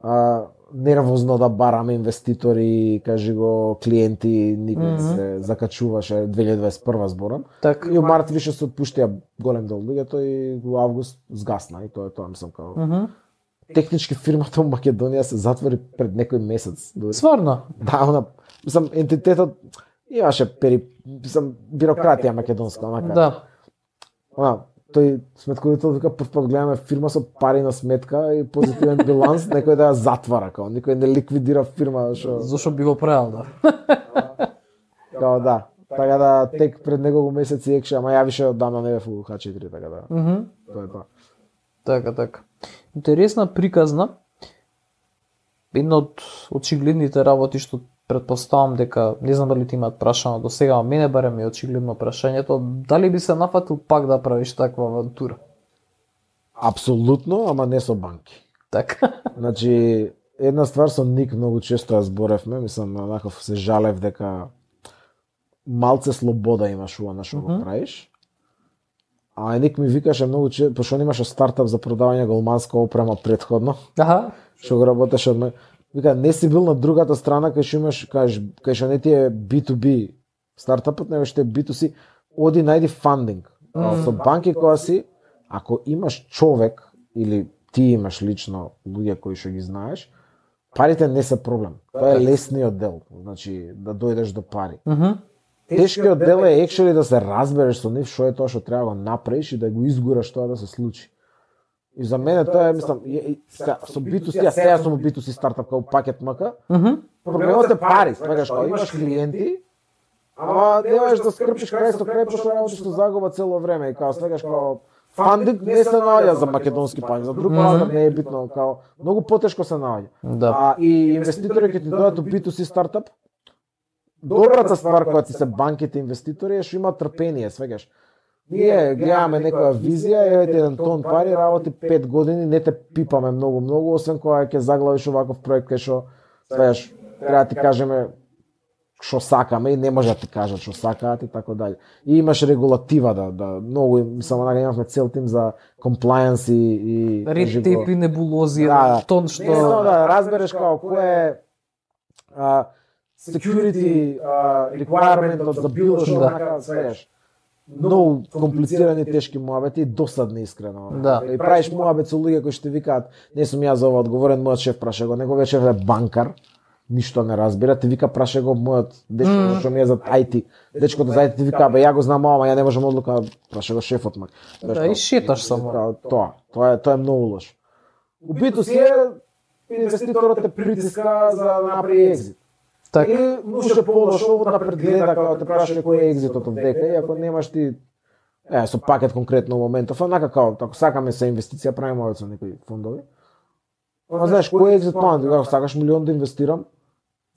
а, нервозно да бараме инвеститори, кажи го клиенти, никој mm -hmm. се закачуваше две илјади дваесет и прва зборам. Так. И у март више се отпуштија голем дел луѓето и во август сгасна и тоа е тоа, мислам као. Mm -hmm. Технички фирмата во Македонија се затвори пред некој месец. Стварно? Да, она, мислам ентитетот имаше пери, мислам бирократија македонска, онака. Да. Она, тој сметковител вика прв пат гледаме фирма со пари на сметка и позитивен биланс, некој да ја затвара, као никој не ликвидира фирма што зошто би го правил, да. Као да. Така да тек пред неколку месеци екше, ама ја више одамна не бев у Х четири, така да. Мгм. Mm Тоа е тоа. Така, така. Интересна приказна. Една од очигледните работи што претпоставам дека не знам дали ти имаат прашано до сега, а мене барем е очигледно прашањето, дали би се нафатил пак да правиш таква авантура? Апсолутно, ама не со банки. Така. Значи, една ствар со Ник многу често ја зборевме, мислам, онаков се жалев дека малце слобода имаш ова на што го правиш. А Ник ми викаше многу често, пошто он имаше стартап за продавање голманска опрема претходно. Аха. Што го работеше од ме. Вика, не си бил на другата страна кај што имаш, кажеш, кај што не ти е би ту би стартапот, него што е би ту си, оди најди фандинг. Mm. Со банки која си, ако имаш човек или ти имаш лично луѓе кои што ги знаеш, парите не се проблем. Тоа е лесниот дел, значи да дојдеш до пари. Mm -hmm. Тешкиот дел е екшели да се разбереш со нив што е тоа што треба да го направиш и да го изгураш тоа да се случи. И за мене тоа е, мислам, со би ту си, а сега сум би ту си стартап као пакет мака. Mm -hmm. Проблемот е пари, свегаш, као имаш клиенти, ама не можеш да скрпиш крај со крај, пошто работиш со загуба цело време и као свегаш као фандинг не се наоѓа за македонски пањ, за друг разлог не е битно, као многу потешко се наоѓа. Да. А и инвеститори ќе ти дојдат у би ту си стартап. Добрата ствар која ти се банките инвеститори е што има трпение, свегаш. Ние гледаме некоја визија, еве еден тон пари, работи пет години, не те пипаме многу многу, освен кога ќе заглавиш оваков проект кај што, свегаш, треба да ти кажеме што сакаме и не може да ти кажат што сакаат и така дали. И имаш регулатива да да многу мислам дека имавме цел тим за compliance и и ред тейп и небулози, да, тон што не само да разбереш како кој е а, security а, requirement за било што Да. така свеш. Многу комплицирани тешки муабети и досадни искрено. Да. И правиш муабет со луѓе кои што ти викаат, не сум ја за ова одговорен, мојот шеф праша го, неговиот шеф е банкар, ништо не разбира, ти вика праша го мојот дечко Mm. што ми е за ай ти. Дечкото за ай ти ти вика, бе ја го знам ова, ја не можам одлука, праша го шефот мак. Да, и шеташ само. Тоа, тоа, тоа е тоа е многу лош. Убито си е инвеститорот те притиска за да направи екзит. Така. Или може полошо да предгледа како те праша кој е екзитот од дека и ако немаш ти е со пакет конкретно во моментов, онака како ако сакаме се инвестиција правиме овој со некои фондови. Ама знаеш кој е екзит план, ако сакаш милион да инвестирам,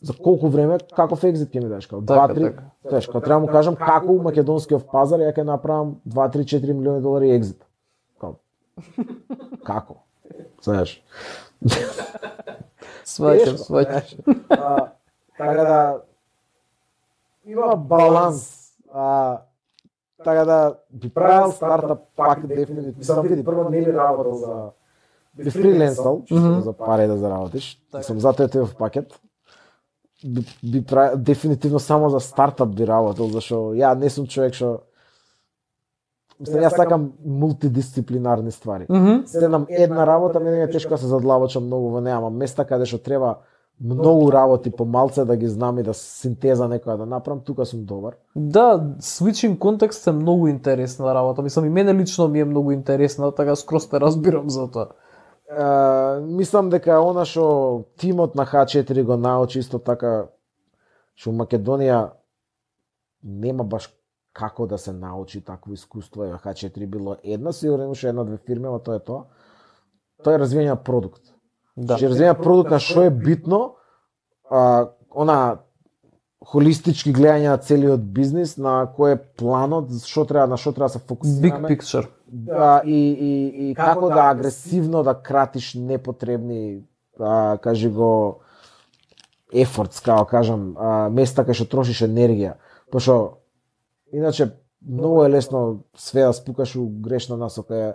за колку време, каков екзит ќе ми дадеш, како Така, два три, така. знаеш, кога треба да му кажам како у македонскиот пазар ја ќе направам два три четири милиони долари екзит. Како? Како? Знаеш. Сваќам, Тешко, сваќам. знаеш. А, Така да има баланс. А, така да би правил стартап пак дефинитивно. Мислам види прво не би работел за би фриленсал, чисто Мгм. за пари да заработиш. Така. Сам затоа е в пакет. Би, би правил дефинитивно само за стартап би работел, зашо ја не сум човек што мислам јас сакам мултидисциплинарни ствари. Мгм. Седнам една работа, мене ми е тешко да се задлабочам многу во неа, ама места каде што треба многу работи по малце да ги знам и да синтеза некоја да направам, тука сум добар. Да, switching контекст е многу интересна работа. Мислам и мене лично ми е многу интересна, така скроз те разбирам за тоа. Е, мислам дека она што тимот на Х четири го научи исто така што у Македонија нема баш како да се научи такво искуство, и Х четири било една, сигурно имаше една-две фирми, ама тоа е тоа. Тоа е развијање на продукт. Да. Ќе развијање продукт на што е битно, а, она холистички гледање на целиот бизнис, на кој е планот, што треба на што треба да се Big фокусираме. picture. Да, и, и, и како да агресивно да кратиш непотребни, а, кажи го, ефортс, како кажам, а, места кај што трошиш енергија. Пошто, иначе, многу е лесно све да спукаш у грешна насока. Е,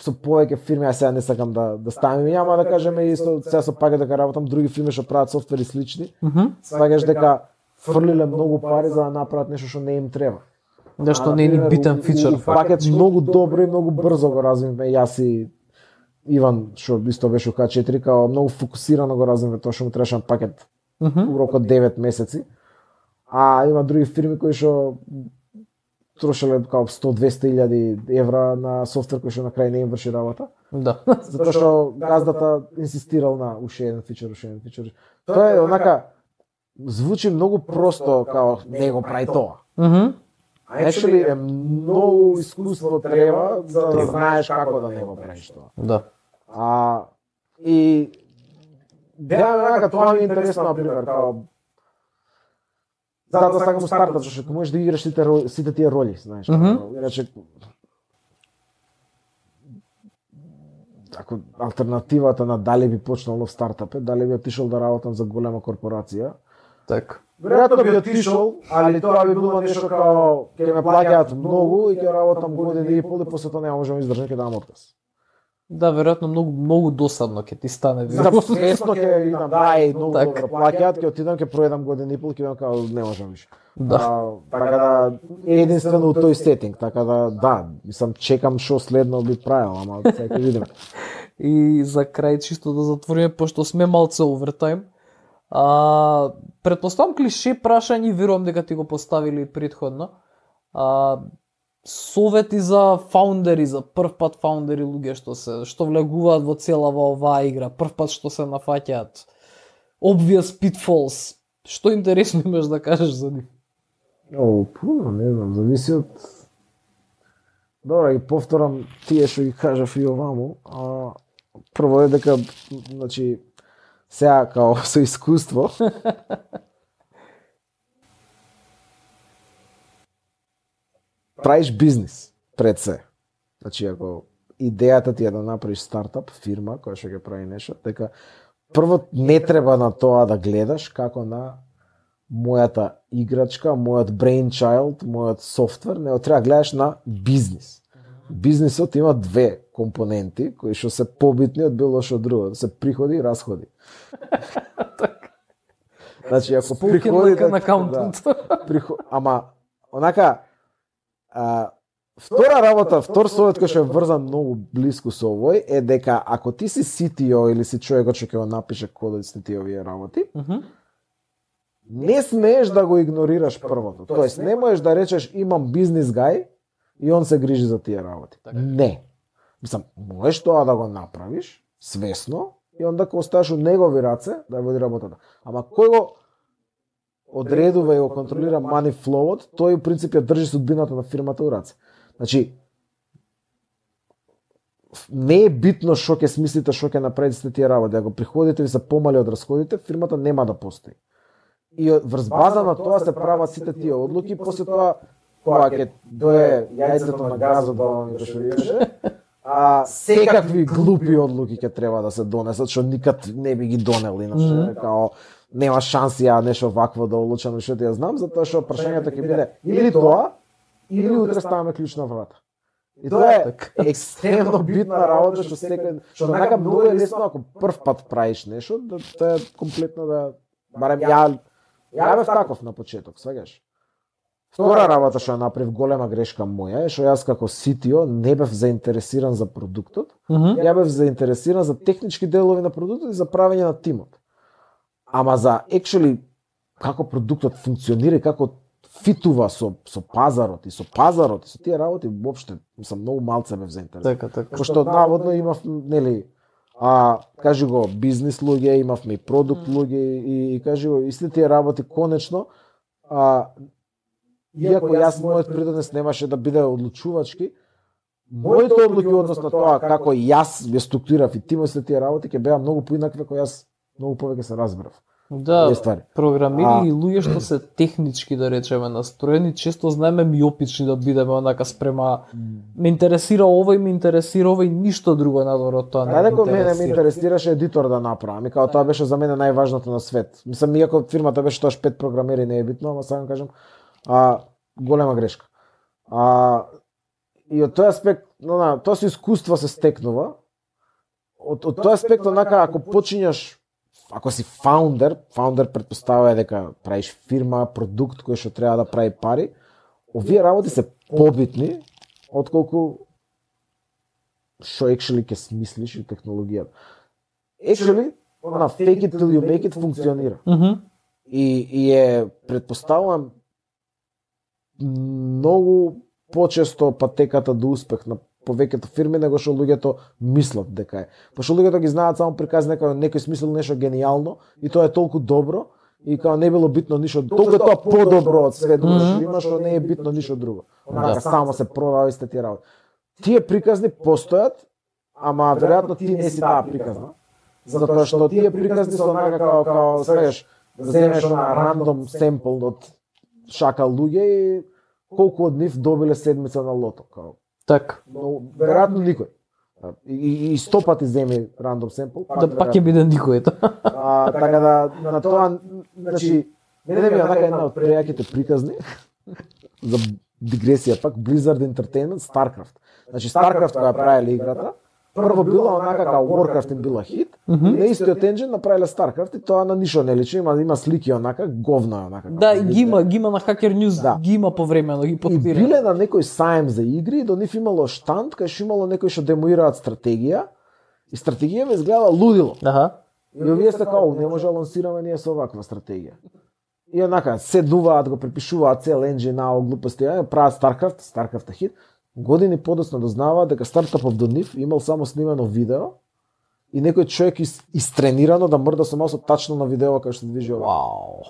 со повеќе фирми, а сега не сакам да, да ставам име, ама да кажеме исто, сега со пакет дека работам, други фирми што прават софтвери слични, Мгм. сваѓаш дека фрлиле многу пари за да направат нешто што не им треба. Да што А, не е ни например, битен у- у- фичер. у Пакет многу добро и многу брзо го развивме јас и Иван, што исто беше у Х четири, као многу фокусирано го развивме тоа што му требаше на пакет Мгм. у рок од девет месеци. А има други фирми кои што трошеле као сто до двесте илјади евра на софтвер кој што на крај не им врши работа. Да. Затоа што газдата инсистирал на уште еден фичер, уште еден фичер. Тоа е онака звучи многу просто као не го прави тоа. Мгм. Actually е многу искуство треба за да знаеш како да не го правиш тоа. Да. А и да, онака тоа ми е интересно на пример, као затоа сакам у стартап, зашто можеш да играш сите роли, сите тие роли, знаеш. Мгм. Иначе ако алтернативата на дали би почнал нов стартап е, дали би отишол да работам за голема корпорација, Така. веројатно би отишол, али тоа би било нешто као ќе ме плаќаат многу и ќе работам година и пол и после тоа нема можам издржам, ќе дам отказ. Да, веројатно многу многу досадно ќе ти стане. За свесно ќе идам, да, и многу Така. добро плаќаат, ќе отидам, ќе проедам година и пол, ќе бидам као не можам више. Да. А, така да е единствено у тој сетинг, така да да, мислам чекам што следно би правил, ама сега ќе видиме. И за крај чисто да затвориме, пошто сме малце овертайм. А, предпоставам клише прашање, верувам дека ти го поставили претходно. А, совети за фаундери, за прв пат фаундери, луѓе што се што влегуваат во целава оваа игра, прв пат што се нафаќаат. Obvious pitfalls. Што интересно имаш да кажеш за нив? О, пуно, не знам, зависи од Добро, и повторам тие што ги кажав и оваму, а прво е дека значи сега као со искуство правиш бизнис пред се. Значи ако идејата ти е да направиш стартап, фирма која што ќе прави нешто, дека прво не треба на тоа да гледаш како на мојата играчка, мојот brainchild, мојот софтвер, него треба да гледаш на бизнис. Бизнисот има две компоненти кои што се побитни од било што друго, се приходи и расходи. Значи ако приходите на акаунтант. Да, приход... ама онака а, втора работа, втор совет кој што е врзан многу блиску со овој е дека ако ти си си ти о или си човекот што ќе го напише кодот на тие овие работи, Mm -hmm. не смееш да го игнорираш првото. Тоест не можеш да речеш имам бизнис гај и он се грижи за тие работи. Така. Не. Мислам, можеш тоа да го направиш свесно и онда ќе оставиш у негови раце да води работата. Ама кој го одредува и го контролира money flow-от, тој у принцип ја држи судбината на фирмата у раце. Значи, не е битно што ќе смислите, што ќе направите сте тие работи. Ако приходите ви се помали од расходите, фирмата нема да постои. И врз база на тоа се прават сите тие одлуки, после тоа кога ќе дое јајцето на газот да вам го шурираше, а секакви глупи одлуки ќе треба да се донесат, што никад не би ги донел иначе, mm -hmm. као нема шанси ја нешто вакво да одлучам, што ти ја знам, затоа што прашањето ќе биде или тоа, или утре ставаме клjuč на врата. И тоа е екстремно битна работа што секој што така многу е лесно ако прв пат правиш нешто, да тоа е комплетно да барем ја ја бев таков на почеток, сваѓаш. Втора работа што ја направив голема грешка моја е што јас како си ти о не бев заинтересиран за продуктот, Mm -hmm. ја бев заинтересиран за технички делови на продуктот и за правење на тимот. Ама за actually како продуктот функционира и како фитува со со пазарот и со пазарот и со тие работи воопште сум многу малце бев заинтересиран. Така, така. Пошто наводно имав нели а кажи го бизнис луѓе, имавме и продукт луѓе и, и кажи го истите тие работи конечно а иако јас мојот придонес немаше да биде одлучувачки, моите одлуки однос на тоа како јас ја структурирав и тимот се тие работи ќе беа многу поинакви кој јас многу повеќе се разбрав. Да, ствари. програмири А... и луѓе што се технички да речеме настроени, често знаеме миопични да бидеме онака спрема ме интересира ова и ме интересира ова и ништо друго надвор од тоа. Ајде кога мене ме интересираше едитор да направам, и као тоа беше за мене најважното на свет. Мислам иако фирмата беше тоаш пет програмери не е битно, ама сакам кажам, а голема грешка. А и од тој аспект, на тоа со искуство се стекнува. Од од тој аспект онака ако почињаш ако си фаундер, фаундер претпоставува дека правиш фирма, продукт кој што треба да прави пари, овие работи се побитни отколку што actually ќе смислиш и технологијата. Actually, она fake it till you make it функционира. Mm -hmm. И, и е, предпоставувам, многу почесто патеката до успех на повеќето фирми него што луѓето мислат дека е. Пошто луѓето ги знаат само приказ дека некој смислил нешто гениално и тоа е толку добро и као не било битно ништо, толку е тоа подобро од све друго што има што не е битно ништо друго. Онака само се продава истите тие работи. Тие приказни постојат, ама веројатно ти не си таа приказна. Затоа што тие приказни се онака као као сакаш да земеш на рандом семпл од шака луѓе и колку од нив добиле седмица на лото, као. Така. Но веројатно никој. И, и сто пати земи рандом семпл. Да пак ќе биде никој ето. А, така да на тоа, значи, мене ми е онака една од прејаките приказни за дигресија пак Blizzard Entertainment StarCraft. Значи StarCraft која правеле играта, прво била онака као Warcraft им била хит, mm -hmm. и на истиот енџин направиле StarCraft и тоа на ништо не личи, има има слики онака, говно е онака. Да, и ги има, ги има на Hacker News, да. Ги има повремено, ги потпира. И биле на некој саем за игри и до нив имало штанд кај што имало некои што демоираат стратегија и стратегија изгледала лудило. Аха. И овие се као не може да лансираме ние со оваква стратегија. И онака седнуваат, го препишуваат цел енџин на глупости, прават StarCraft, StarCraft е хит. Години подоцна дознаваат дека стартапов до нив имал само снимено видео и некој човек из, истренирано да мрда со маусот тачно на видео кај што движи ова. Вау.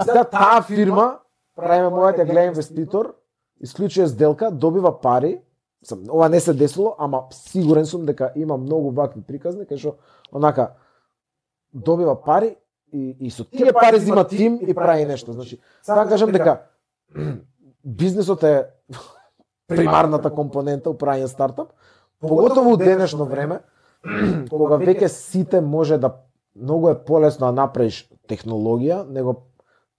Сега таа фирма, правиме мојот глед инвеститор, исклучува сделка, добива пари. Ова не се десило, ама сигурен сум дека има многу вакви приказни кај што онака добива пари и, и со тие пари зима тим и прави нешто. Значи, сега кажам дека бизнисот е примарната компонента у правење стартап, поготово у денешно време, кога веќе сите може да многу е полесно да направиш технологија, него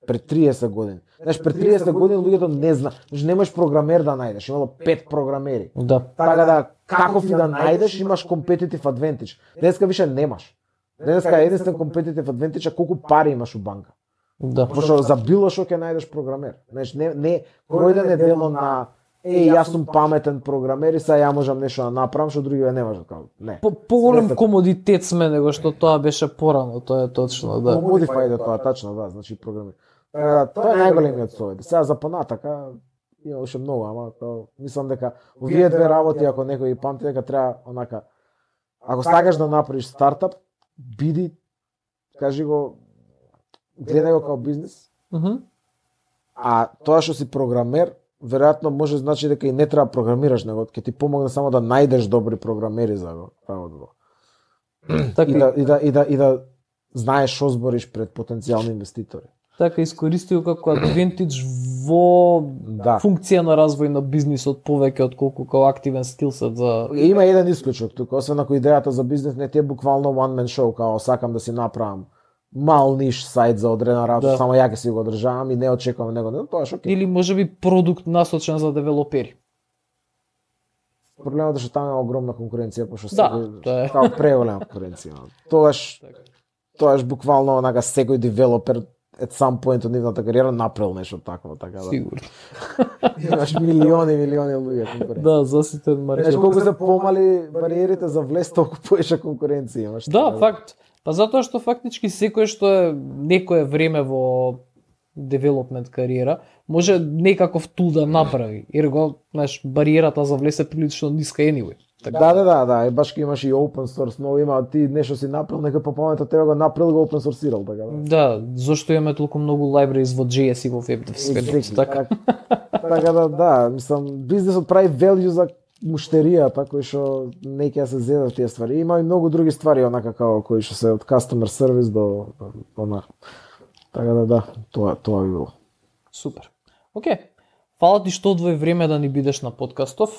пред триесет години. Знаеш, пред триесет години луѓето не зна, значи немаш програмер да најдеш, имало пет програмери. Да. Така да каков и да најдеш, имаш competitive advantage. Денеска више немаш. Денеска е единствен competitive advantage а колку пари имаш у банка. Да. Пошто за било што ќе најдеш програмер. Знаеш, не не кој да не дело на е, јас сум паметен програмер и сега ја можам нешто да направам што други не можат, како. Не. По поголем комодитет сме него што тоа беше порано, тоа е точно, да. Modify тоа тачно, да, значи програмер. Така, тоа е најголемиот совет. Сега за понатака има уште многу, ама тоа мислам дека овие две работи ако некој ги памти дека треба онака ако сакаш да направиш стартап, биди кажи го гледај го како бизнис. Мхм. А тоа што си програмер веројатно може значи дека и не треба програмираш него, ќе ти помогне само да најдеш добри програмери за го работа. Така И да и да и да и да знаеш што збориш пред потенцијални инвеститори. така искористи го како адвентидж во Да. функција на развој на бизнисот повеќе отколку како активен скилсет за Има еден исклучок тука, освен ако идејата за бизнес не ти е буквално one man show, као сакам да си направам мал ниш сајт за одредена работа, Да. само ја ќе си го одржавам и не очекувам него, не, тоа е окей. или можеби продукт насочен за девелопери. Проблемот е што таму има огромна конкуренција, пошто Да, секој тоа е. као преголема конкуренција. Тогаш тогаш буквално онака секој девелопер at some point од нивната кариера направил нешто такво, така да. Сигурно. Имаш милиони, милиони луѓе конкуренција. Да, заситен Знаеш маркет. колку се помали бариерите за влез, толку поише конкуренција имаш. Да, така факт. Па затоа што фактички секој што е некое време во девелопмент кариера, може некаков тул да направи. Ерго, знаеш, бариерата за влез е прилично ниска anyway. Така. Да, да, да, да, и баш имаш и open source, но има ти нешто си направил, нека по памет тебе го направил, го open sourceирал, така да. Да, зошто имаме толку многу libraries во джей ес и во WebDev светот, Exactly, така. Така да, да, мислам, бизнесот прави value за муштеријата, кои што не ќе се зедат тие ствари. Има и многу други ствари, онака како кои што се од customer service до она. Така да, да, тоа тоа би било. Супер. Океј. Фала ти што одвои време да ни бидеш на подкастов.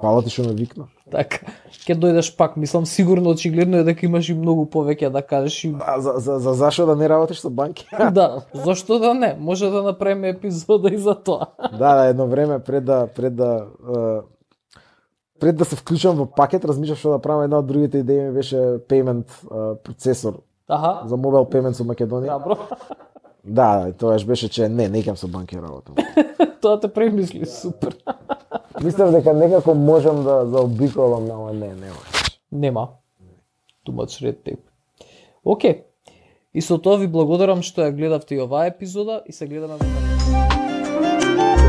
Фала ти што ме викна. Така, ќе дојдеш пак, мислам сигурно очигледно е дека имаш и многу повеќе да кажеш и А за за за зашо да не работиш со банки? да, зошто да не? Може да направиме епизода и за тоа. Да, да, едно време пред да пред да е, пред да се вклучам во пакет, размислав што да правам, една од другите идеи ми беше payment е, процесор Аха. за mobile payments во Македонија. Добро. Да, да, тоаш беше че не, не икам со банки работам. Тоа те премисли, супер. Мислев дека некако можам да заобиколам, ама не, нема. Нема. Too much red tape. Океј. И со тоа ви благодарам што ја гледавте и оваа епизода и се гледаме во наредната.